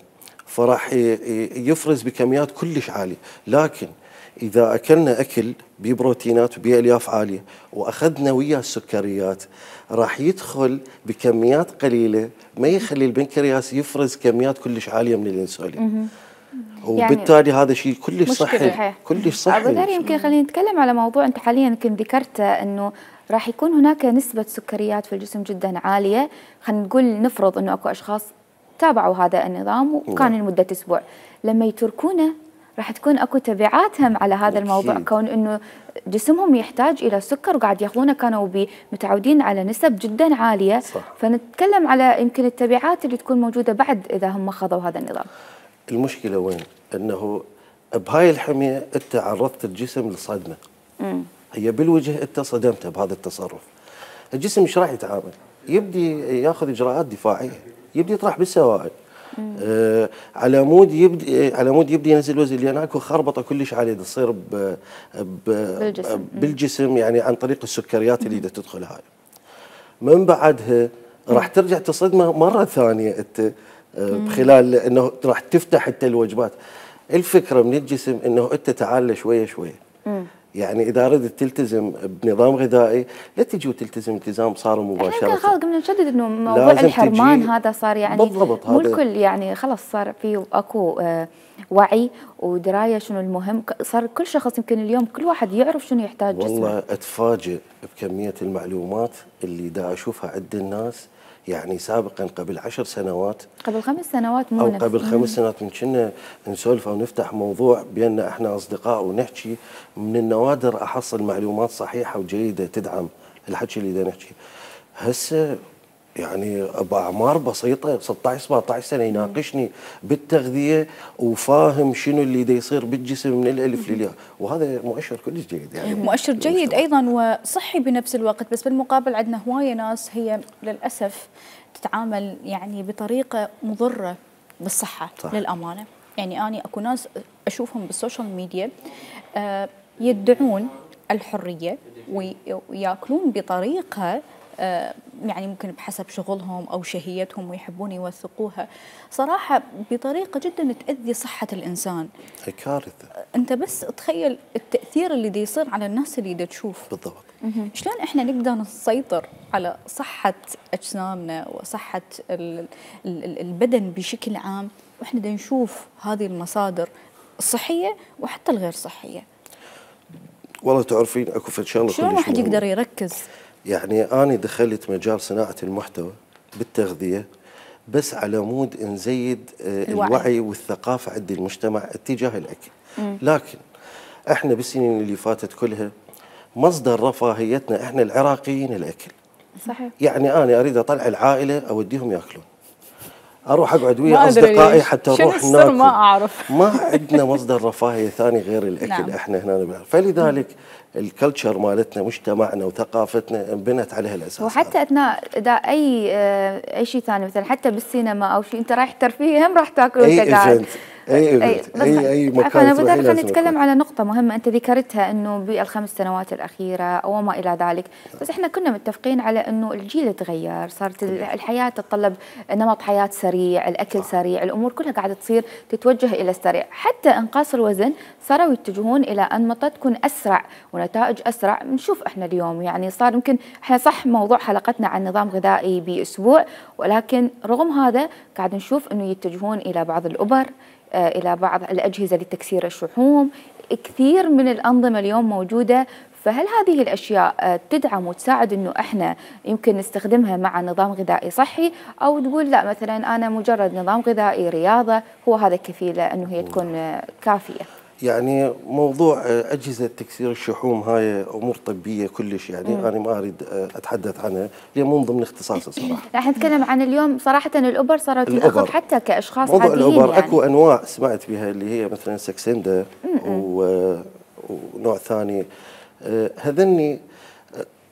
فراح يفرز بكميات كلش عالية، لكن اذا اكلنا اكل بيه بروتينات وبيه الياف عاليه واخذنا وياه السكريات راح يدخل بكميات قليله ما يخلي البنكرياس يفرز كميات كلش عاليه من الانسولين. وبالتالي يعني هذا شيء كلش صحي، كلش صحي. ابو ذر يمكن خلينا نتكلم على موضوع انت حاليا يمكن ذكرته، انه راح يكون هناك نسبه سكريات في الجسم جدا عاليه. خلينا نقول نفرض انه اكو اشخاص تابعوا هذا النظام وكان لمده اسبوع، لما يتركونه راح تكون اكو تبعات هم على هذا الموضوع، أكيد. كون انه جسمهم يحتاج الى سكر وقاعد ياخذونه كانوا متعودين على نسب جدا عاليه، صح. فنتكلم على يمكن التبعات اللي تكون موجوده بعد اذا هم خذوا هذا النظام. المشكله وين؟ انه بهاي الحميه انت عرضت الجسم لصدمه. امم هي بالوجه انت صدمته بهذا التصرف. الجسم ايش راح يتعامل؟ يبدي ياخذ اجراءات دفاعيه، يبدي يطرح بالسوائل. آه على مود يبدي على مود يبدي ينزل وزن، لان اكو خربطه كلش عاليه تصير ب بالجسم. بالجسم يعني عن طريق السكريات اللي دا تدخل هاي. من بعدها راح ترجع تصدمه مره ثانيه انت آه بخلال انه راح تفتح انت الوجبات. الفكره من الجسم انه انت تعال شويه شويه. يعني اذا ردت تلتزم بنظام غذائي لا تجي وتلتزم التزام صار مباشره. احنا خلاص قمنا نشدد انه موضوع الحرمان هذا صار يعني بالضبط، مو الكل يعني خلاص صار في اكو آه وعي ودرايه شنو المهم، صار كل شخص يمكن اليوم كل واحد يعرف شنو يحتاج جسمه. والله اتفاجئ بكميه المعلومات اللي دا اشوفها عند الناس. يعني سابقا قبل عشر سنوات قبل خمس سنوات مو او قبل خمس سنوات من كنا نسولف او نفتح موضوع بيننا احنا اصدقاء ونحكي، من النوادر احصل معلومات صحيحه وجيده تدعم الحكي اللي دا نحكي. هسه يعني باعمار بسيطه ستة عشر سبعة عشر سنه يناقشني بالتغذيه وفاهم شنو اللي دا يصير بالجسم من الالف للياء، وهذا مؤشر كلش جيد. يعني مؤشر جيد ايضا وصحي بنفس الوقت، بس بالمقابل عندنا هوايه ناس هي للاسف تتعامل يعني بطريقه مضره بالصحه. صح. للامانه يعني اني اكو ناس اشوفهم بالسوشيال ميديا آه يدعون الحريه وياكلون بطريقه آه يعني ممكن بحسب شغلهم أو شهيتهم ويحبون يوثقوها صراحة بطريقة جدا تأذي صحة الإنسان. كارثة. أنت بس تخيل التأثير اللي دي يصير على الناس اللي دي تشوف. بالضبط. شلون إحنا نقدر نسيطر على صحة أجسامنا وصحة البدن بشكل عام وإحنا دا نشوف هذه المصادر الصحية وحتى الغير صحية. والله تعرفين أكو في شغلة شلون واحد يقدر يركز؟ يعني أنا دخلت مجال صناعة المحتوى بالتغذية بس على مود نزيد الوعي, الوعي والثقافة عند المجتمع اتجاه الأكل. مم. لكن احنا بالسنين اللي فاتت كلها مصدر رفاهيتنا احنا العراقيين الأكل. صحيح. يعني أنا أريد أطلع العائلة أوديهم يأكلون، أروح أقعد ويا أصدقائي حتى نروح ناكل. ما أعرف. ما عندنا مصدر رفاهية ثاني غير الأكل. نعم. احنا هنا نبعرف. فلذلك الكلتشر مالتنا مجتمعنا وثقافتنا انبنت عليها الاساس. وحتى اثناء اداء اي اي شيء ثاني مثلا حتى بالسينما او شيء انت رايح ترفيه هم راح تاكل وانت قاعد. اي ايفنت اي اي مكان. انا بدي خلينا نتكلم على نقطه مهمه انت ذكرتها انه بالخمس سنوات الاخيره او ما الى ذلك، بس احنا كنا متفقين على انه الجيل تغير، صارت الحياه تتطلب نمط حياه سريع، الاكل سريع، الامور كلها قاعده تصير تتوجه الى السريع، حتى انقاص الوزن صاروا يتجهون الى انمطه تكون اسرع ونتائج اسرع. بنشوف احنا اليوم يعني صار يمكن احنا صح موضوع حلقتنا عن نظام غذائي باسبوع، ولكن رغم هذا قاعد نشوف انه يتجهون الى بعض الابر، إلى بعض الأجهزة لتكسير الشحوم، كثير من الأنظمة اليوم موجودة. فهل هذه الأشياء تدعم وتساعد أنه إحنا يمكن نستخدمها مع نظام غذائي صحي، أو تقول لا مثلا أنا مجرد نظام غذائي رياضة هو هذا كفيلة أنه هي تكون كافية؟ يعني موضوع أجهزة تكسير الشحوم هاي أمور طبية كلش، يعني مم. أنا ما أريد أتحدث عنها لأن مو ضمن اختصاصي صراحة. لا احنا نتكلم عن اليوم صراحة الأوبر صارت تأخذ حتى كأشخاص موضوع عاديين. الأوبر يعني أكو أنواع سمعت بها اللي هي مثلا سكسندا و... ونوع ثاني، هذني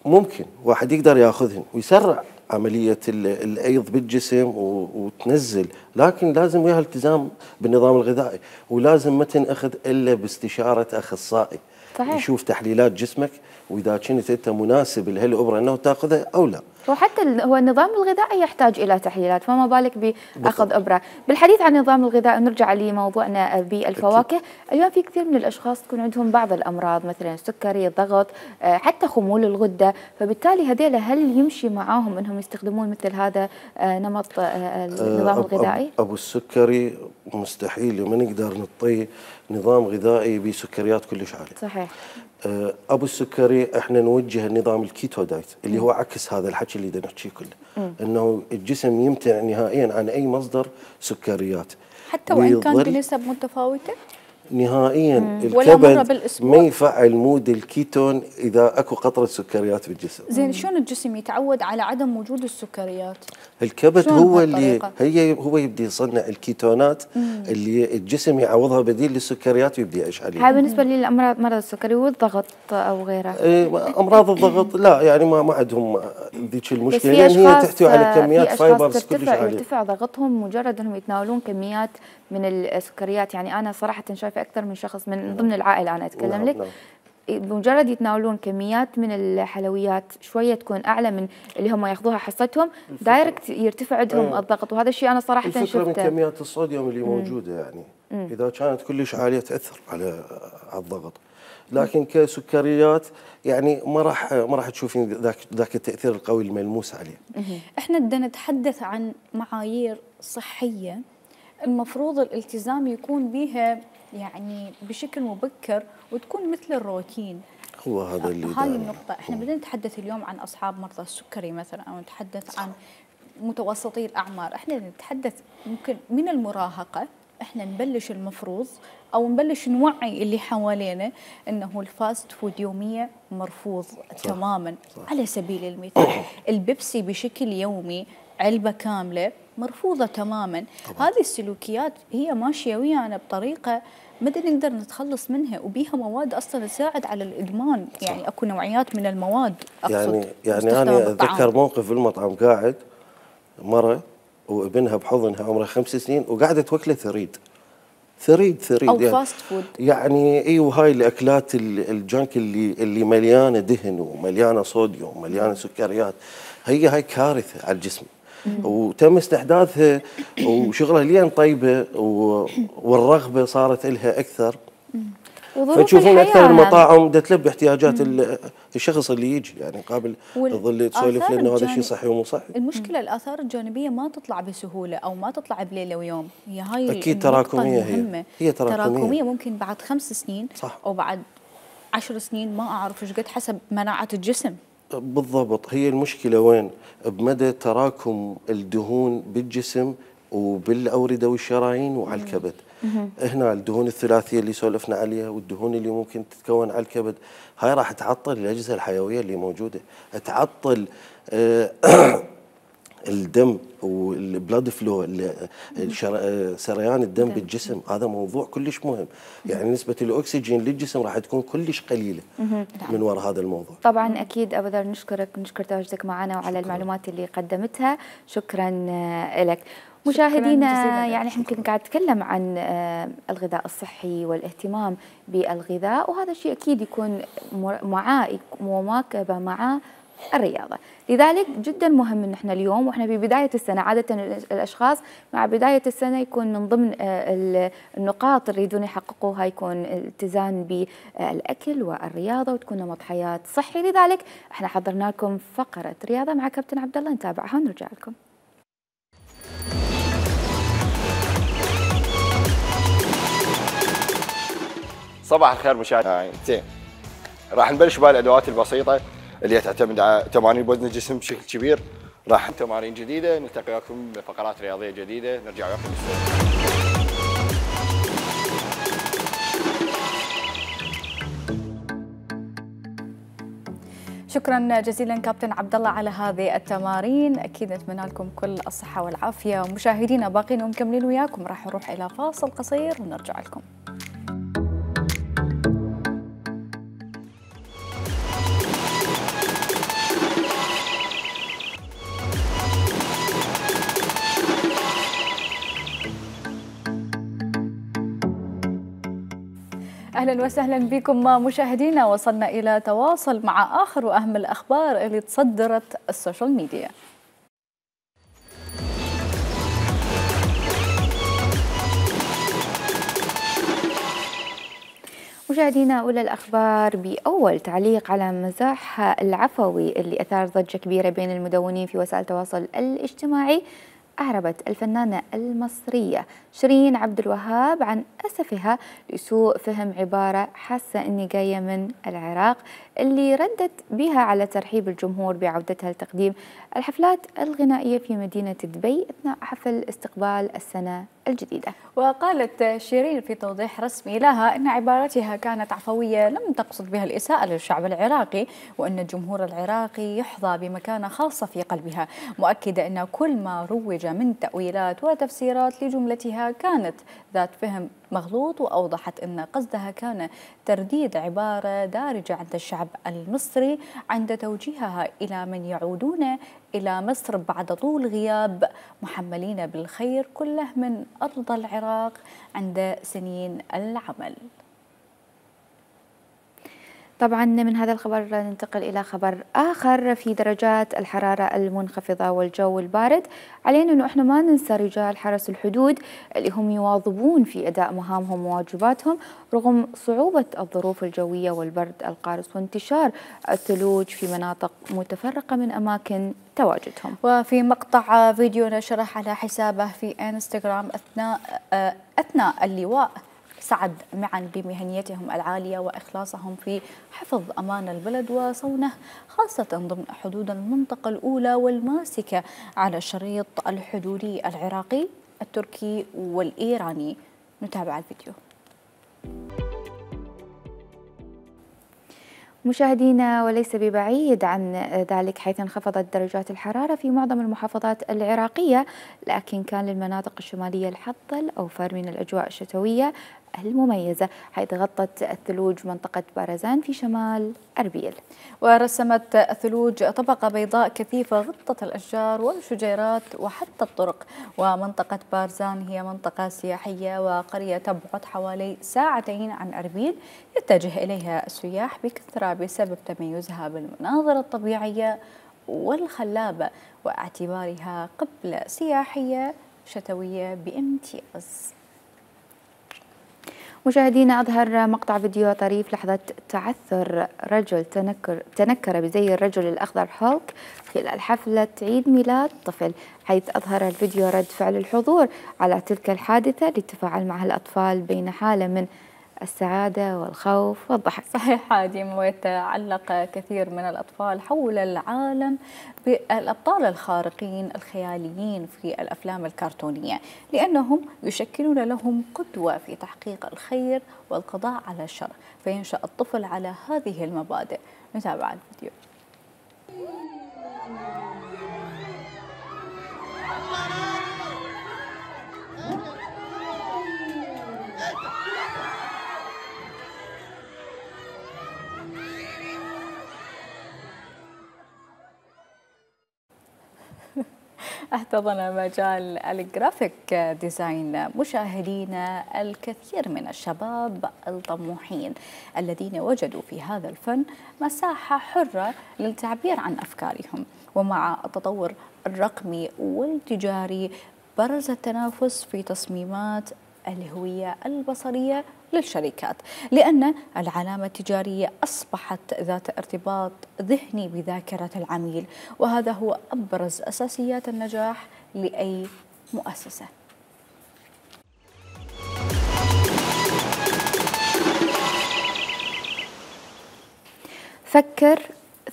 ممكن واحد يقدر ياخذهن ويسرع عملية الأيض بالجسم وتنزل، لكن لازم وياها التزام بالنظام الغذائي، ولازم ما تنأخذ إلا باستشارة أخصائي صحيح. يشوف تحليلات جسمك واذا كنت انت مناسب لهالابره انه تاخذها او لا. وحتى هو النظام الغذائي يحتاج الى تحليلات، فما بالك باخذ ابره. بالحديث عن النظام الغذائي نرجع لموضوعنا بالفواكه. اليوم في كثير من الاشخاص تكون عندهم بعض الامراض مثلا السكري، الضغط، حتى خمول الغده، فبالتالي هذيل هل يمشي معاهم انهم يستخدمون مثل هذا نمط النظام الغذائي؟ ابو السكري مستحيل ما نقدر نعطيه نظام غذائي بسكريات كلش عاليه. صحيح. ابو السكري احنا نوجه النظام الكيتو دايت اللي هو عكس هذا الحكي اللي بدنا نحكيه كله، م. انه الجسم يمتنع نهائيا عن اي مصدر سكريات حتى وان كان بنسب متفاوته نهائيا. مم. الكبد ما يفعل مود الكيتون اذا اكو قطره سكريات بالجسم. زين شلون الجسم يتعود على عدم وجود السكريات؟ الكبد هو اللي هي هو يبدي يصنع الكيتونات مم. اللي الجسم يعوضها بديل للسكريات ويبدي يعيش عليها. هاي بالنسبه للامراض مرض السكري والضغط او غيره. ايه امراض الضغط لا يعني ما ما عندهم ذيك المشكله لان هي تحتوي على كميات فايبرز كلش عاليه. يرتفع ضغطهم مجرد انهم يتناولون كميات من السكريات. يعني انا صراحه شايفه اكثر من شخص من ضمن العائله انا اتكلم نعم لك نعم. بمجرد يتناولون كميات من الحلويات شويه تكون اعلى من اللي هم ياخذوها حصتهم دايركت يرتفع عندهم أيوة. الضغط. وهذا الشيء انا صراحه شفته. الفكره من كميات الصوديوم اللي مم. موجوده يعني مم. اذا كانت كلش عاليه تاثر على على الضغط، لكن كسكريات يعني ما راح ما راح تشوفين ذاك ذاك التاثير القوي الملموس عليه. احنا بدنا نتحدث عن معايير صحيه المفروض الالتزام يكون بها يعني بشكل مبكر وتكون مثل الروتين. هو هذا اللي هذه النقطة. احنا بدنا نتحدث اليوم عن اصحاب مرضى السكري مثلا او نتحدث عن متوسطي الاعمار، احنا نتحدث ممكن من المراهقة احنا نبلش المفروض او نبلش نوعي اللي حوالينا انه الفاست فود يوميا مرفوض صح. تماما صح. على سبيل المثال البيبسي بشكل يومي علبة كاملة مرفوضة تماما. طبعا. هذه السلوكيات هي ماشية ويانا بطريقة ما نقدر نتخلص منها وبيها مواد اصلا تساعد على الادمان. صح. يعني اكو نوعيات من المواد اقصد يعني يعني انا اتذكر موقف بالمطعم قاعد مرة وابنها بحضنها عمرها خمس سنين وقاعدة توكله ثريد ثريد ثريد او يعني فاست فود يعني اي وهاي الاكلات الجنك اللي اللي مليانه دهن ومليانه صوديوم ومليانه سكريات، هي هاي كارثه على الجسم. وتم استحداثها وشغلها لين طيبه والرغبه صارت لها اكثر. فتشوفون اكثر المطاعم بدها تلبي احتياجات الشخص اللي يجي يعني قابل تظل تسولف لانه هذا الشيء صحي ومو صحي. المشكله الاثار الجانبيه ما تطلع بسهوله او ما تطلع بليله ويوم، هي هاي اكيد تراكميه هي هي تراكميه. تراكميه ممكن بعد خمس سنين صح. او بعد عشر سنين ما اعرف ايش قد حسب مناعه الجسم. بالضبط. هي المشكله وين؟ بمدى تراكم الدهون بالجسم وبالاورده والشرايين وعلى الكبد. هنا الدهون الثلاثيه اللي سولفنا عليها والدهون اللي ممكن تتكون على الكبد هاي راح تعطل الاجهزه الحيويه اللي موجوده، تعطل الدم والبلاد فلو سريان الدم بالجسم. هذا موضوع كلش مهم. يعني نسبه الاكسجين للجسم راح تكون كلش قليله من وراء هذا الموضوع. طبعا اكيد ابو ذر نشكرك نشكر تواجدك معنا وعلى المعلومات اللي قدمتها. شكرا لك. مشاهدينا يعني احنا كنا قاعد نتكلم عن الغذاء الصحي والاهتمام بالغذاء، وهذا الشيء اكيد يكون معاه مواكبه مع الرياضة. لذلك جدا مهم ان احنا اليوم واحنا في بداية السنة، عادة الاشخاص مع بداية السنة يكون من ضمن النقاط اللي يريدون يحققوها يكون الاتزان بالاكل والرياضة وتكون نمط حياة صحي. لذلك احنا حضرنا لكم فقرة رياضة مع كابتن عبد الله، نتابعها ونرجع لكم. صباح الخير مشاهدينا. زين راح نبلش بالادوات البسيطة اللي تعتمد على تمارين بوزن الجسم بشكل كبير. راح تمارين جديده، نلتقي وياكم بفقرات رياضيه جديده، نرجع وياكم شكرا جزيلا كابتن عبد الله على هذه التمارين، اكيد نتمنى لكم كل الصحه والعافيه. مشاهدينا باقين ومكملين وياكم، راح نروح الى فاصل قصير ونرجع لكم. اهلا أهلا وسهلا بكم مشاهدينا. وصلنا إلى تواصل مع آخر وأهم الأخبار اللي تصدرت السوشيال ميديا. مشاهدينا أولى الأخبار بأول تعليق على مزاح العفوي اللي أثار ضجة كبيرة بين المدونين في وسائل التواصل الاجتماعي. أعربت الفنانة المصرية شيرين عبد الوهاب عن أسفها لسوء فهم عبارة حاسة إني جاية من العراق، اللي ردت بها على ترحيب الجمهور بعودتها لتقديم الحفلات الغنائية في مدينة دبي أثناء حفل استقبال السنة الجديدة. وقالت شيرين في توضيح رسمي لها أن عبارتها كانت عفوية لم تقصد بها الإساءة للشعب العراقي، وأن الجمهور العراقي يحظى بمكانة خاصة في قلبها، مؤكدة أن كل ما روج من تأويلات وتفسيرات لجملتها كانت ذات فهم مغلوط، وأوضحت أن قصدها كان ترديد عبارة دارجة عند الشعب المصري عند توجيهها إلى من يعودون إلى مصر بعد طول غياب محملين بالخير كله من أرض العراق عند سنين العمل. طبعا من هذا الخبر ننتقل إلى خبر آخر في درجات الحرارة المنخفضة والجو البارد. علينا أنه إحنا ما ننسى رجال حرس الحدود اللي هم يواظبون في أداء مهامهم وواجباتهم رغم صعوبة الظروف الجوية والبرد القارس وانتشار الثلوج في مناطق متفرقة من أماكن تواجدهم. وفي مقطع فيديو نشره على حسابه في انستغرام أثناء أثناء اللواء سعد معا بمهنيتهم العالية وإخلاصهم في حفظ أمان البلد وصونه خاصة ضمن حدود المنطقة الأولى والماسكة على الشريط الحدودي العراقي التركي والإيراني. نتابع الفيديو. مشاهدينا، وليس ببعيد عن ذلك حيث انخفضت درجات الحرارة في معظم المحافظات العراقية، لكن كان للمناطق الشمالية الحظ الأوفر من الأجواء الشتوية المميزة، حيث غطت الثلوج منطقة بارزان في شمال أربيل. ورسمت الثلوج طبقة بيضاء كثيفة غطت الأشجار والشجيرات وحتى الطرق. ومنطقة بارزان هي منطقة سياحية وقرية تبعد حوالي ساعتين عن أربيل، يتجه إليها السياح بكثرة بسبب تميزها بالمناظر الطبيعية والخلابة واعتبارها قبلة سياحية شتوية بامتياز. مشاهدينا، أظهر مقطع فيديو طريف لحظة تعثر رجل تنكر, تنكر بزي الرجل الأخضر هولك خلال حفلة عيد ميلاد طفل، حيث أظهر الفيديو رد فعل الحضور على تلك الحادثة للتفاعل معها الأطفال بين حالة من السعادة والخوف والضحك. صحيح هادم، ويتعلق كثير من الأطفال حول العالم بالأبطال الخارقين الخياليين في الأفلام الكرتونية، لأنهم يشكلون لهم قدوة في تحقيق الخير والقضاء على الشر، فينشأ الطفل على هذه المبادئ. نتابع الفيديو. احتضن مجال الجرافيك ديزاين مشاهدينا الكثير من الشباب الطموحين الذين وجدوا في هذا الفن مساحة حرة للتعبير عن أفكارهم. ومع التطور الرقمي والتجاري برز التنافس في تصميمات الهوية البصرية للشركات، لأن العلامة التجارية أصبحت ذات ارتباط ذهني بذاكرة العميل، وهذا هو أبرز أساسيات النجاح لأي مؤسسة. فكر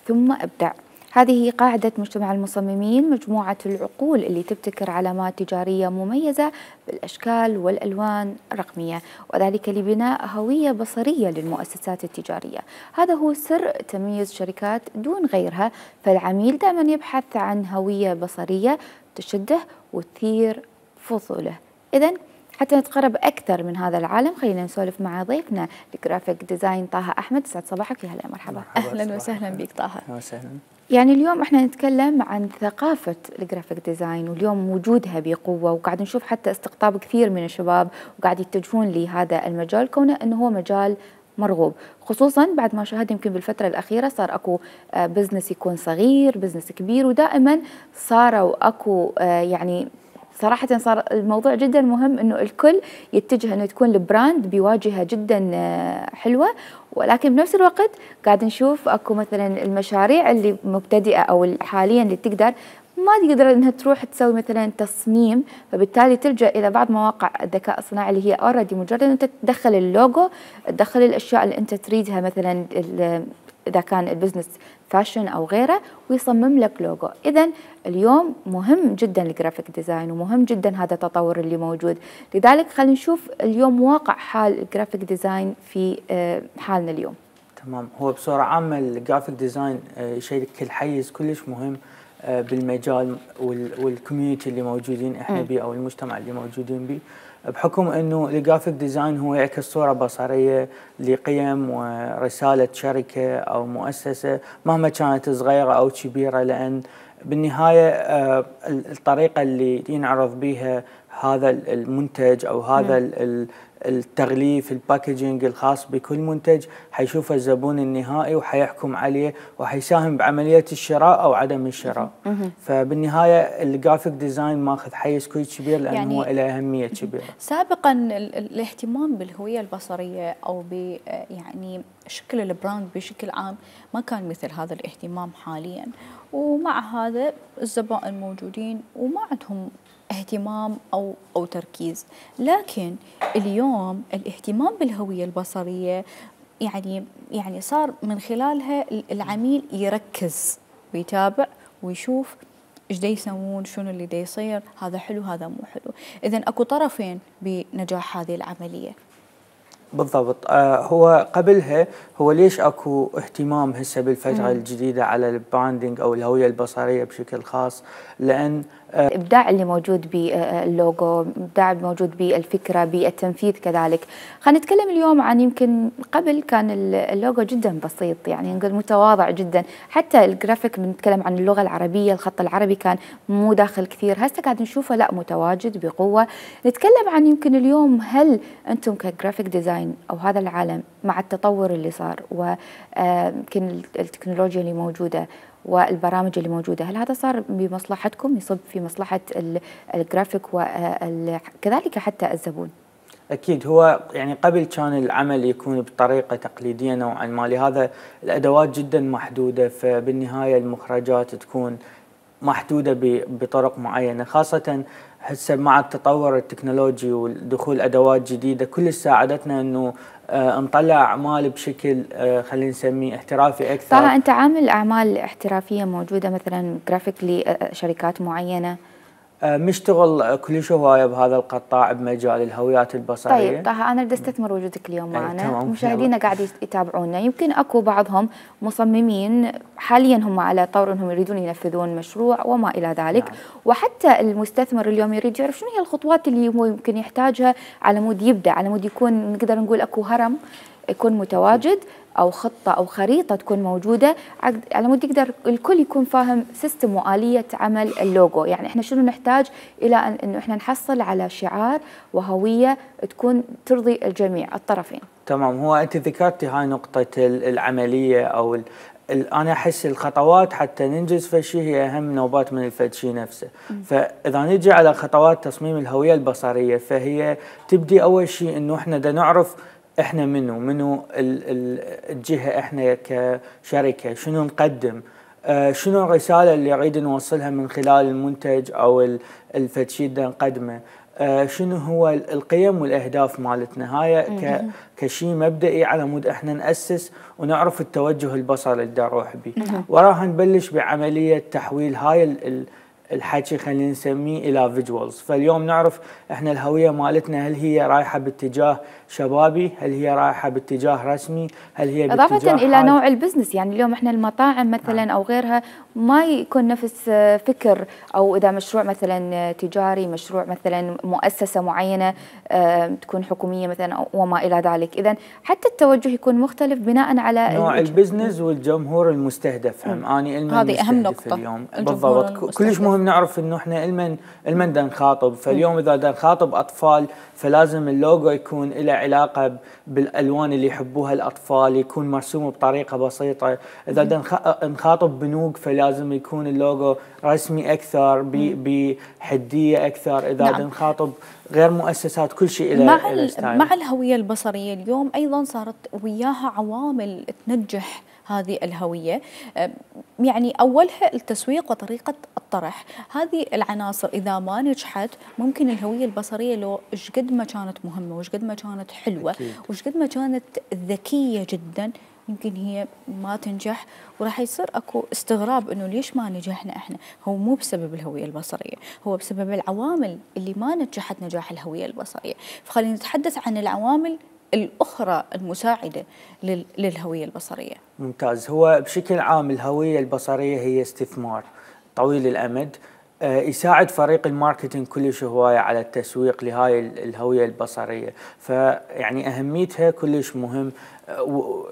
ثم ابدع. هذه قاعدة مجتمع المصممين، مجموعة العقول اللي تبتكر علامات تجارية مميزة بالأشكال والألوان الرقمية، وذلك لبناء هوية بصرية للمؤسسات التجارية. هذا هو سر تميز شركات دون غيرها، فالعميل دائما يبحث عن هوية بصرية تشده وتثير فضوله. إذن حتى نتقرب أكثر من هذا العالم، خلينا نسولف مع ضيفنا الجرافيك ديزاين طه أحمد. سعد صباحك، يا هلا مرحبا. أهلا وسهلا بك طه. وسهلا. يعني اليوم احنا نتكلم عن ثقافة الجرافيك ديزاين، واليوم وجودها بقوة، وقاعد نشوف حتى استقطاب كثير من الشباب وقاعد يتجهون لهذا المجال، كونه انه هو مجال مرغوب، خصوصا بعد ما شاهد يمكن بالفترة الأخيرة صار أكو بزنس يكون صغير، بزنس كبير، ودائما صاروا أكو يعني صراحة صار الموضوع جدا مهم انه الكل يتجه انه تكون البراند بواجهة جدا حلوة، ولكن بنفس الوقت قاعد نشوف اكو مثلا المشاريع اللي مبتدئة او حاليا اللي تقدر ما تقدر انها تروح تسوي مثلا تصميم، فبالتالي تلجأ الى بعض مواقع الذكاء الصناعي اللي هي اوريدي مجرد انت تدخل اللوجو، تدخل الاشياء اللي انت تريدها مثلا اذا كان البزنس فاشن او غيره ويصمم لك لوجو. اذا اليوم مهم جدا الجرافيك ديزاين ومهم جدا هذا التطور اللي موجود، لذلك خلينا نشوف اليوم واقع حال الجرافيك ديزاين في حالنا اليوم. تمام، هو بصورة عامة الجرافيك ديزاين شيء كل حيز كلش مهم بالمجال والكوميونتي اللي موجودين احنا بيه او المجتمع اللي موجودين بيه، بحكم انه الجرافيك ديزاين هو يعكس صوره بصريه لقيم ورساله شركه او مؤسسه مهما كانت صغيره او كبيره، لان بالنهايه الطريقه اللي ينعرض بها هذا المنتج او هذا التغليف الباكجينج الخاص بكل منتج حيشوفه الزبون النهائي وحيحكم عليه وحيساهم بعمليه الشراء او عدم الشراء. فبالنهايه الجرافيك ديزاين ماخذ حيز كل كبير لانه يعني هو له اهميه كبيره. سابقا الاهتمام بالهويه البصريه او ب يعني شكل البراند بشكل عام ما كان مثل هذا الاهتمام حاليا، ومع هذا الزبائن موجودين وما عندهم اهتمام او او تركيز، لكن اليوم الاهتمام بالهويه البصريه يعني يعني صار من خلالها العميل يركز ويتابع ويشوف ايش دا يسوون، شنو اللي دا يصير، هذا حلو هذا مو حلو. اذا اكو طرفين بنجاح هذه العمليه. بالضبط. آه هو قبلها هو ليش اكو اهتمام هسه بالفتره مم. الجديده على البراندنج او الهويه البصريه بشكل خاص؟ لان آه الابداع اللي موجود باللوجو، ابداع موجود بالفكره، بالتنفيذ كذلك. خلينا نتكلم اليوم عن يمكن قبل كان اللوجو جدا بسيط، يعني نقول متواضع جدا، حتى الجرافيك بنتكلم عن اللغه العربيه، الخط العربي كان مو داخل كثير، هسه قاعد نشوفه لا متواجد بقوه. نتكلم عن يمكن اليوم هل انتم كجرافيك ديزاين او هذا العالم مع التطور اللي صار ويمكن التكنولوجيا اللي موجوده والبرامج اللي موجوده، هل هذا صار بمصلحتكم، يصب في مصلحه الجرافيك وكذلك حتى الزبون؟ اكيد. هو يعني قبل كان العمل يكون بطريقه تقليديه نوعا ما، لهذا الادوات جدا محدوده، فبالنهايه المخرجات تكون محدوده بطرق معينه، خاصه هسه مع التطور التكنولوجي ودخول ادوات جديده كل ساعدتنا انه آه نطلع اعمال بشكل آه خلينا نسميه احترافي اكثر. طه انت عامل اعمال احترافيه موجوده مثلا جرافيك لشركات معينه؟ آه مشتغل كلش هوايه بهذا القطاع بمجال الهويات البصريه. طيب طه انا بدي استثمر وجودك اليوم معنا، مشاهدينا قاعد يتابعونا، يمكن اكو بعضهم مصممين حاليا هم على طور انهم يريدون ينفذون مشروع وما الى ذلك، نعم. وحتى المستثمر اليوم يريد يعرف شنو هي الخطوات اللي هو يمكن يحتاجها على مود يبدا، على مود يكون نقدر نقول اكو هرم يكون متواجد او خطه او خريطه تكون موجوده على مود يقدر الكل يكون فاهم سيستم واليه عمل اللوجو، يعني احنا شنو نحتاج الى ان انه احنا نحصل على شعار وهويه تكون ترضي الجميع الطرفين. تمام. هو انت ذكرتي هاي نقطه العمليه او انا احس الخطوات حتى ننجز فشي هي اهم نوبات من الفدشي نفسه. م. فاذا نجي على خطوات تصميم الهويه البصريه فهي تبدي اول شيء انه احنا دا نعرف احنا منو منو الجهه، احنا كشركه شنو نقدم، آه شنو الرساله اللي نريد نوصلها من خلال المنتج او الفدشي دا نقدمه، آه شنو هو القيم والاهداف مالتنا. هاي كشيء مبدئي على مود احنا ناسس ونعرف التوجه البصري اللي دا نروح به. وراها نبلش بعمليه تحويل هاي الحكي خلينا نسميه الى فيجوالز. فاليوم نعرف احنا الهويه مالتنا هل هي رايحه باتجاه شبابي، هل هي رايحه باتجاه رسمي، هل هي باتجاه اضافه الى حاد. نوع البزنس، يعني اليوم احنا المطاعم مثلا او غيرها ما يكون نفس فكر، او اذا مشروع مثلا تجاري، مشروع مثلا مؤسسه معينه تكون حكوميه مثلا وما الى ذلك، اذا حتى التوجه يكون مختلف بناء على نوع البزنس والجمهور المستهدف. هم اني هذه اهم نقطه اليوم بالضبط كلش مهم مهم نعرف انه احنا المن المن دا نخاطب. فاليوم اذا دا نخاطب اطفال فلازم اللوجو يكون له علاقه بالالوان اللي يحبوها الاطفال، يكون مرسوم بطريقه بسيطه. اذا دا نخاطب بنوك فلازم يكون اللوجو رسمي اكثر بحديه اكثر. اذا نعم. دا نخاطب غير مؤسسات كل شيء له مع مع الهويه البصريه اليوم ايضا صارت وياها عوامل تنجح هذه الهوية، يعني أولها التسويق وطريقة الطرح. هذه العناصر إذا ما نجحت ممكن الهوية البصرية لو إيش قد ما كانت مهمة وإيش قد ما كانت حلوة وإيش قد ما كانت ذكية جدا يمكن هي ما تنجح، وراح يصير اكو استغراب انه ليش ما نجحنا احنا. هو مو بسبب الهويه البصريه، هو بسبب العوامل اللي ما نجحت نجاح الهويه البصريه. فخلينا نتحدث عن العوامل الأخرى المساعدة للهوية البصرية. ممتاز. هو بشكل عام الهوية البصرية هي استثمار طويل الأمد يساعد فريق الماركتينج كلش هواية على التسويق لهاي الهوية البصرية. فيعني أهميتها كلش مهم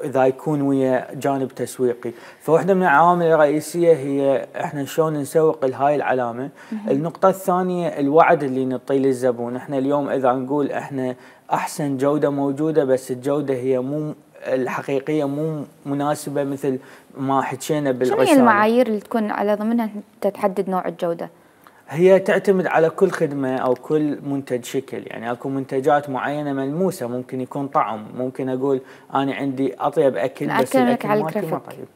إذا يكون ويا جانب تسويقي. فواحدة من العوامل الرئيسية هي إحنا شلون نسوق لهاي العلامة. النقطة الثانية الوعد اللي نعطيه للزبون. إحنا اليوم إذا نقول إحنا أحسن جودة موجودة بس الجودة هي مو الحقيقية مو مناسبة مثل ما حكينا بالرسالة. شنو هي المعايير اللي تكون على ضمنها أنت تحدد نوع الجودة؟ هي تعتمد على كل خدمة أو كل منتج شكل. يعني أكو منتجات معينة ملموسة، ممكن يكون طعم، ممكن أقول أنا عندي أطيب أكل بس الأكل مالتي ما طيب.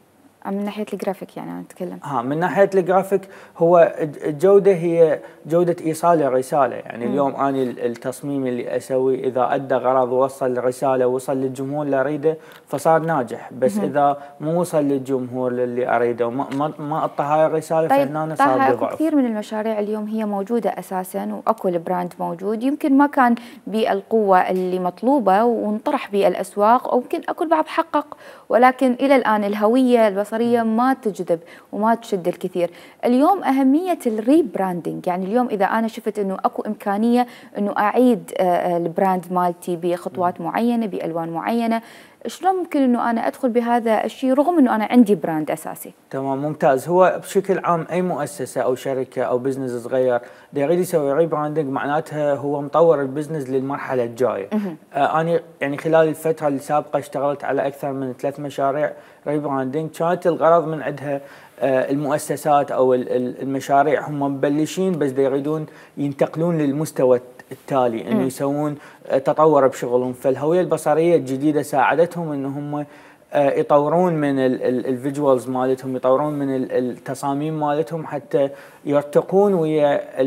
من ناحية الجرافيك يعني أنا أتكلم. ها من ناحية الجرافيك هو الجودة هي جودة إيصال الرسالة. يعني م. اليوم أنا التصميم اللي أسوي إذا أدى غرض ووصل الرسالة ووصل للجمهور اللي أريده فصار ناجح، بس م. إذا مو وصل للجمهور اللي أريده وما ما, ما أعطى هاي الرسالة طيب فهنا صار بضعف. كثير من المشاريع اليوم هي موجودة أساسا وأكو البراند موجود، يمكن ما كان بالقوة اللي مطلوبة وانطرح بالأسواق، أو يمكن أكو البعض حقق ولكن إلى الآن الهوية البصرية ما تجذب وما تشد الكثير. اليوم أهمية الريبراندنج، يعني اليوم إذا أنا شفت أنه أكو إمكانية أنه أعيد البراند مالتي بخطوات معينة بألوان معينة، شلون ممكن أنه أنا أدخل بهذا الشيء رغم أنه أنا عندي براند أساسي؟ تمام ممتاز. هو بشكل عام أي مؤسسة أو شركة أو بزنس صغير دا يريد يسوي ريبراندنج معناتها هو مطور البزنس للمرحلة الجاية. آه أنا يعني خلال الفترة السابقة اشتغلت على أكثر من ثلاث مشاريع ريبراندنج، كانت الغرض من عندها آه المؤسسات أو المشاريع هم مبلشين بس دا يريدون ينتقلون للمستوى التالي انه يسوون تطور بشغلهم. فالهويه البصريه الجديده ساعدتهم ان هم يطورون من الفيجوالز مالتهم، يطورون من التصاميم مالتهم حتى يرتقون ويا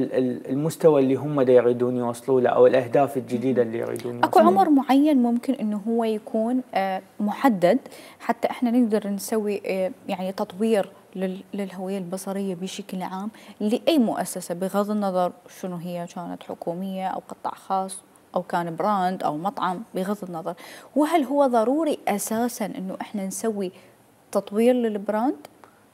المستوى اللي هم دا يريدون يوصلوا له او الاهداف الجديده اللي يريدون يوصلوا. اكو عمر معين ممكن انه هو يكون محدد حتى احنا نقدر نسوي يعني تطوير للهوية البصرية بشكل عام لأي مؤسسة بغض النظر شنو هي، كانت حكومية أو قطاع خاص أو كان براند أو مطعم بغض النظر. وهل هو ضروري أساساً أنه إحنا نسوي تطوير للبراند؟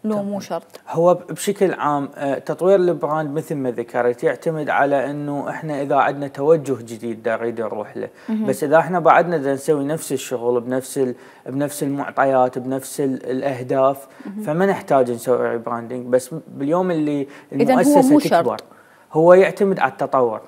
لو مو شرط. هو بشكل عام تطوير البراند مثل ما ذكرت يعتمد على انه احنا اذا عندنا توجه جديد دا نريد نروح له، بس اذا احنا بعدنا دا نسوي نفس الشغل بنفس بنفس المعطيات بنفس الاهداف فما نحتاج نسوي ريبراندنج. بس باليوم اللي المؤسسه تكبر هو يعتمد على التطور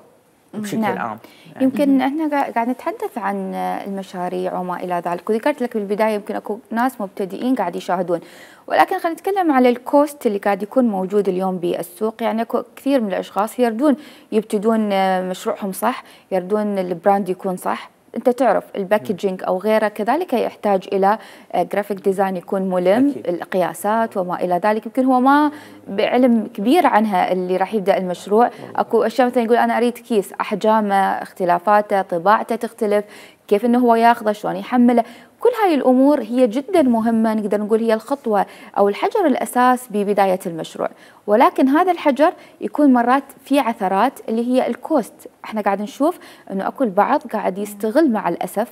بشكل نعم. عام يعني. يمكن احنا قاعد نتحدث عن المشاريع وما الى ذلك، وذكرت لك بالبدايه يمكن اكو ناس مبتدئين قاعد يشاهدون، ولكن خلينا نتكلم على الكوست اللي قاعد يكون موجود اليوم بالسوق. يعني اكو كثير من الاشخاص يردون يبتدون مشروعهم صح، يردون البراند يكون صح. انت تعرف الباكجينج او غيره كذلك يحتاج الى جرافيك ديزاين يكون ملم، أكيد. القياسات وما الى ذلك يمكن هو ما بعلم كبير عنها اللي راح يبدا المشروع. اكو اشياء مثلا يقول انا اريد كيس، احجامه، اختلافاته، طباعته تختلف، كيف انه هو ياخذه، شلون يحمله. كل هاي الامور هي جدا مهمه، نقدر نقول هي الخطوه او الحجر الاساس ببدايه المشروع. ولكن هذا الحجر يكون مرات في عثرات اللي هي الكوست. احنا قاعد نشوف انه اكو البعض قاعد يستغل مع الاسف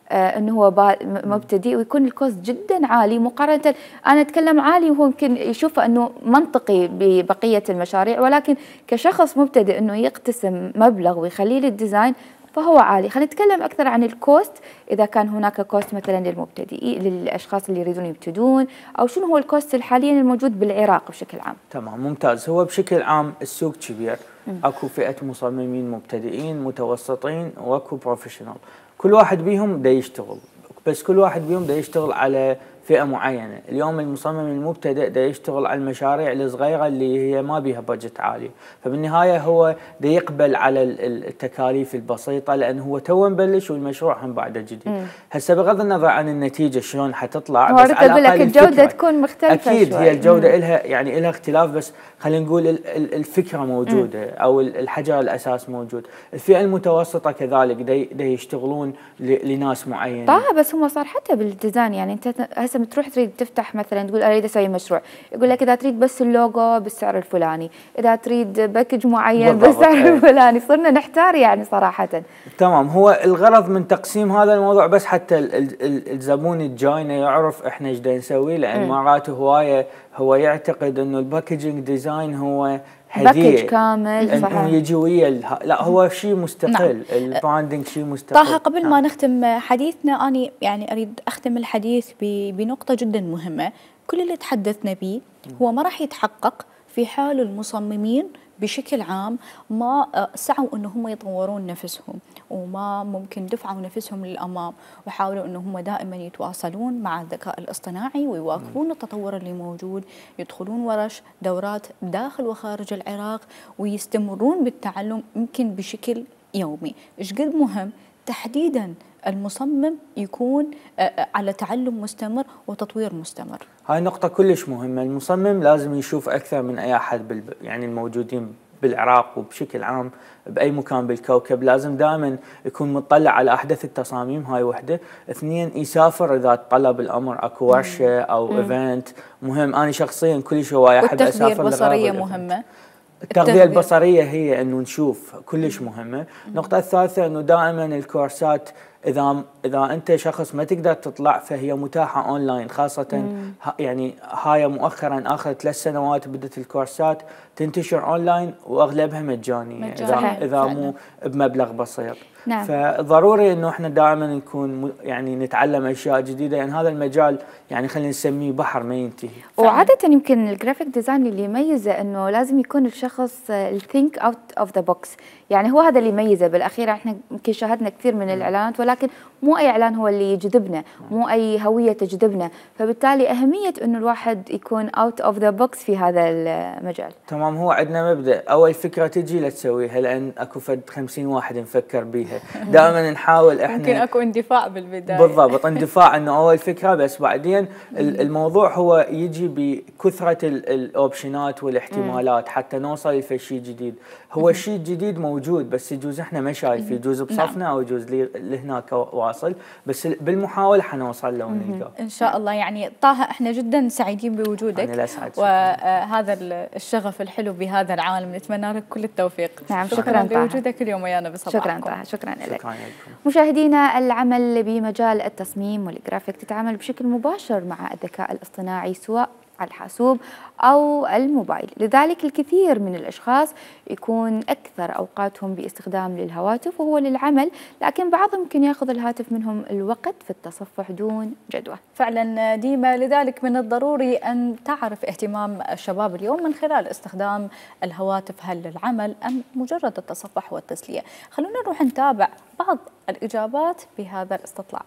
آه انه هو مبتدئ ويكون الكوست جدا عالي مقارنه، انا اتكلم عالي وهو يمكن يشوفه انه منطقي ببقيه المشاريع، ولكن كشخص مبتدئ انه يقتسم مبلغ ويخليه للديزاين فهو عالي. خلينا نتكلم أكثر عن الكوست، إذا كان هناك كوست مثلا للمبتدئين للأشخاص اللي يريدون يبتدون، أو شنو هو الكوست حاليا الموجود بالعراق بشكل عام. تمام ممتاز. هو بشكل عام السوق كبير، اكو فئة مصممين مبتدئين متوسطين واكو بروفيشنال، كل واحد بيهم دا يشتغل، بس كل واحد بيهم دا يشتغل على فئة معينة. اليوم المصمم المبتدئ دا يشتغل على المشاريع الصغيرة اللي هي ما بيها بجت عالي، فبالنهاية هو دا يقبل على التكاليف البسيطة لأنه هو تو مبلش والمشروع هم بعده جديد. هسه بغض النظر عن النتيجة شلون حتطلع، بس على الأقل الجودة تكون مختلفة أكيد شوي. هي الجودة إلها يعني إلها اختلاف، بس خلينا نقول الفكرة موجودة مم. أو الحجر الأساس موجود. الفئة المتوسطة كذلك دا يشتغلون لناس معينة. طيب بس هم صار حتى بالديزاين، يعني أنت هسه بتروح تريد تفتح مثلا تقول اريد اسوي مشروع، يقول لك اذا تريد بس اللوجو بالسعر الفلاني، اذا تريد باكج معين بالسعر الفلاني، صرنا نحتار يعني صراحه. تمام. هو الغرض من تقسيم هذا الموضوع بس حتى الزبون الجاينا يعرف احنا ايش دا نسوي، لان مرات هوايه هو يعتقد انه الباكجينج ديزاين هو هديه باكج كامل صحيح، انه يجي ويا لا هو شيء مستقل. نعم. البراندنج شيء مستقل. طه قبل نعم. ما نختم حديثنا اني يعني اريد اختم الحديث بنقطه جدا مهمه. كل اللي تحدثنا به هو ما راح يتحقق في حال المصممين بشكل عام ما سعوا أن هم يطورون نفسهم، وما ممكن دفعوا نفسهم للأمام، وحاولوا أن هم دائما يتواصلون مع الذكاء الاصطناعي ويواكبون التطور اللي موجود، يدخلون ورش دورات داخل وخارج العراق، ويستمرون بالتعلم يمكن بشكل يومي. إيش قد مهم تحديدا المصمم يكون على تعلم مستمر وتطوير مستمر. هاي نقطة كلش مهمة. المصمم لازم يشوف أكثر من أي أحد بال يعني الموجودين بالعراق وبشكل عام بأي مكان بالكوكب، لازم دائما يكون مطلع على أحدث التصاميم. هاي وحدة. اثنين، يسافر إذا طلب الأمر، أكو ورشة أو مم. إيفنت مهم. أنا شخصيا كلش هواية أحب أسافر. والتغذية البصرية مهمة. التغذية البصرية هي أنه نشوف كلش مهمة. النقطة الثالثة أنه دائما الكورسات إذا إذا أنت شخص ما تقدر تطلع فهي متاحة أونلاين، خاصة يعني هاي مؤخرا آخر ثلاث سنوات بدت الكورسات تنتشر أونلاين وأغلبها مجانية إذا إذا مو بمبلغ بسيط. نعم. فضروري انه احنا دائما نكون يعني نتعلم اشياء جديده، لان يعني هذا المجال يعني خلينا نسميه بحر ما ينتهي. وعاده يمكن الجرافيك ديزاين اللي يميزه انه لازم يكون الشخص الثينك اوت اوف ذا بوكس، يعني هو هذا اللي يميزه. بالاخير احنا يمكن شاهدنا كثير من الاعلانات، ولكن مو اي اعلان هو اللي يجذبنا، مو اي هويه تجذبنا، فبالتالي اهميه انه الواحد يكون اوت اوف ذا بوكس في هذا المجال. تمام. هو عندنا مبدا اول فكره تجي لا تسويها، لان اكو فد خمسين واحد نفكر بيها. دائما نحاول احنا ممكن اكو اندفاع بالبدايه. بالضبط، اندفاع انه اول فكره، بس بعدين الموضوع هو يجي بكثره الاوبشنات والاحتمالات حتى نوصل لشيء جديد. هو الشيء الجديد موجود، بس يجوز احنا ما شايفين، يجوز بصفنا او يجوز لهناك واصل، بس بالمحاوله حنوصل له ونلقاه ان شاء الله. يعني طه احنا جدا سعيدين بوجودك، انا اسعد، وهذا الشغف الحلو بهذا العالم، نتمنى لك كل التوفيق. نعم شكرا لوجودك اليوم ويانا بصباحكم. شكرا طه، شكرا لك. مشاهدينا، العمل بمجال التصميم والجرافيك تتعامل بشكل مباشر مع الذكاء الاصطناعي سواء على الحاسوب أو الموبايل، لذلك الكثير من الأشخاص يكون أكثر أوقاتهم باستخدام للهواتف وهو للعمل، لكن بعضهم يمكن يأخذ الهاتف منهم الوقت في التصفح دون جدوى. فعلا ديما، لذلك من الضروري أن تعرف اهتمام الشباب اليوم من خلال استخدام الهواتف، هل للعمل أم مجرد التصفح والتسلية. خلونا نروح نتابع بعض الإجابات بهذا الاستطلاع.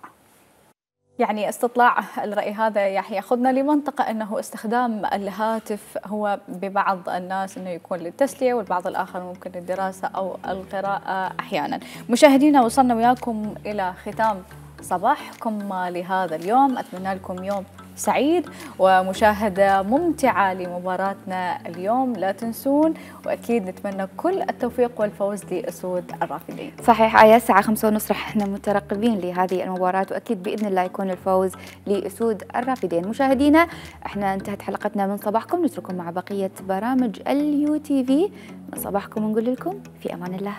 يعني استطلاع الرأي هذا ياخذنا لمنطقة أنه استخدام الهاتف هو ببعض الناس أنه يكون للتسلية، والبعض الآخر ممكن للدراسة أو القراءة أحيانا. مشاهدينا، وصلنا وياكم إلى ختام صباحكم لهذا اليوم. أتمنى لكم يوم سعيد ومشاهدة ممتعة لمباراتنا اليوم. لا تنسون، وأكيد نتمنى كل التوفيق والفوز لأسود الرافدين. صحيح، آية الساعة خمسة ونص رح احنا مترقبين لهذه المباراة، وأكيد بإذن الله يكون الفوز لأسود الرافدين. مشاهدينا، احنا انتهت حلقتنا من صباحكم، نترككم مع بقية برامج اليو تي في. من صباحكم ونقول لكم في أمان الله.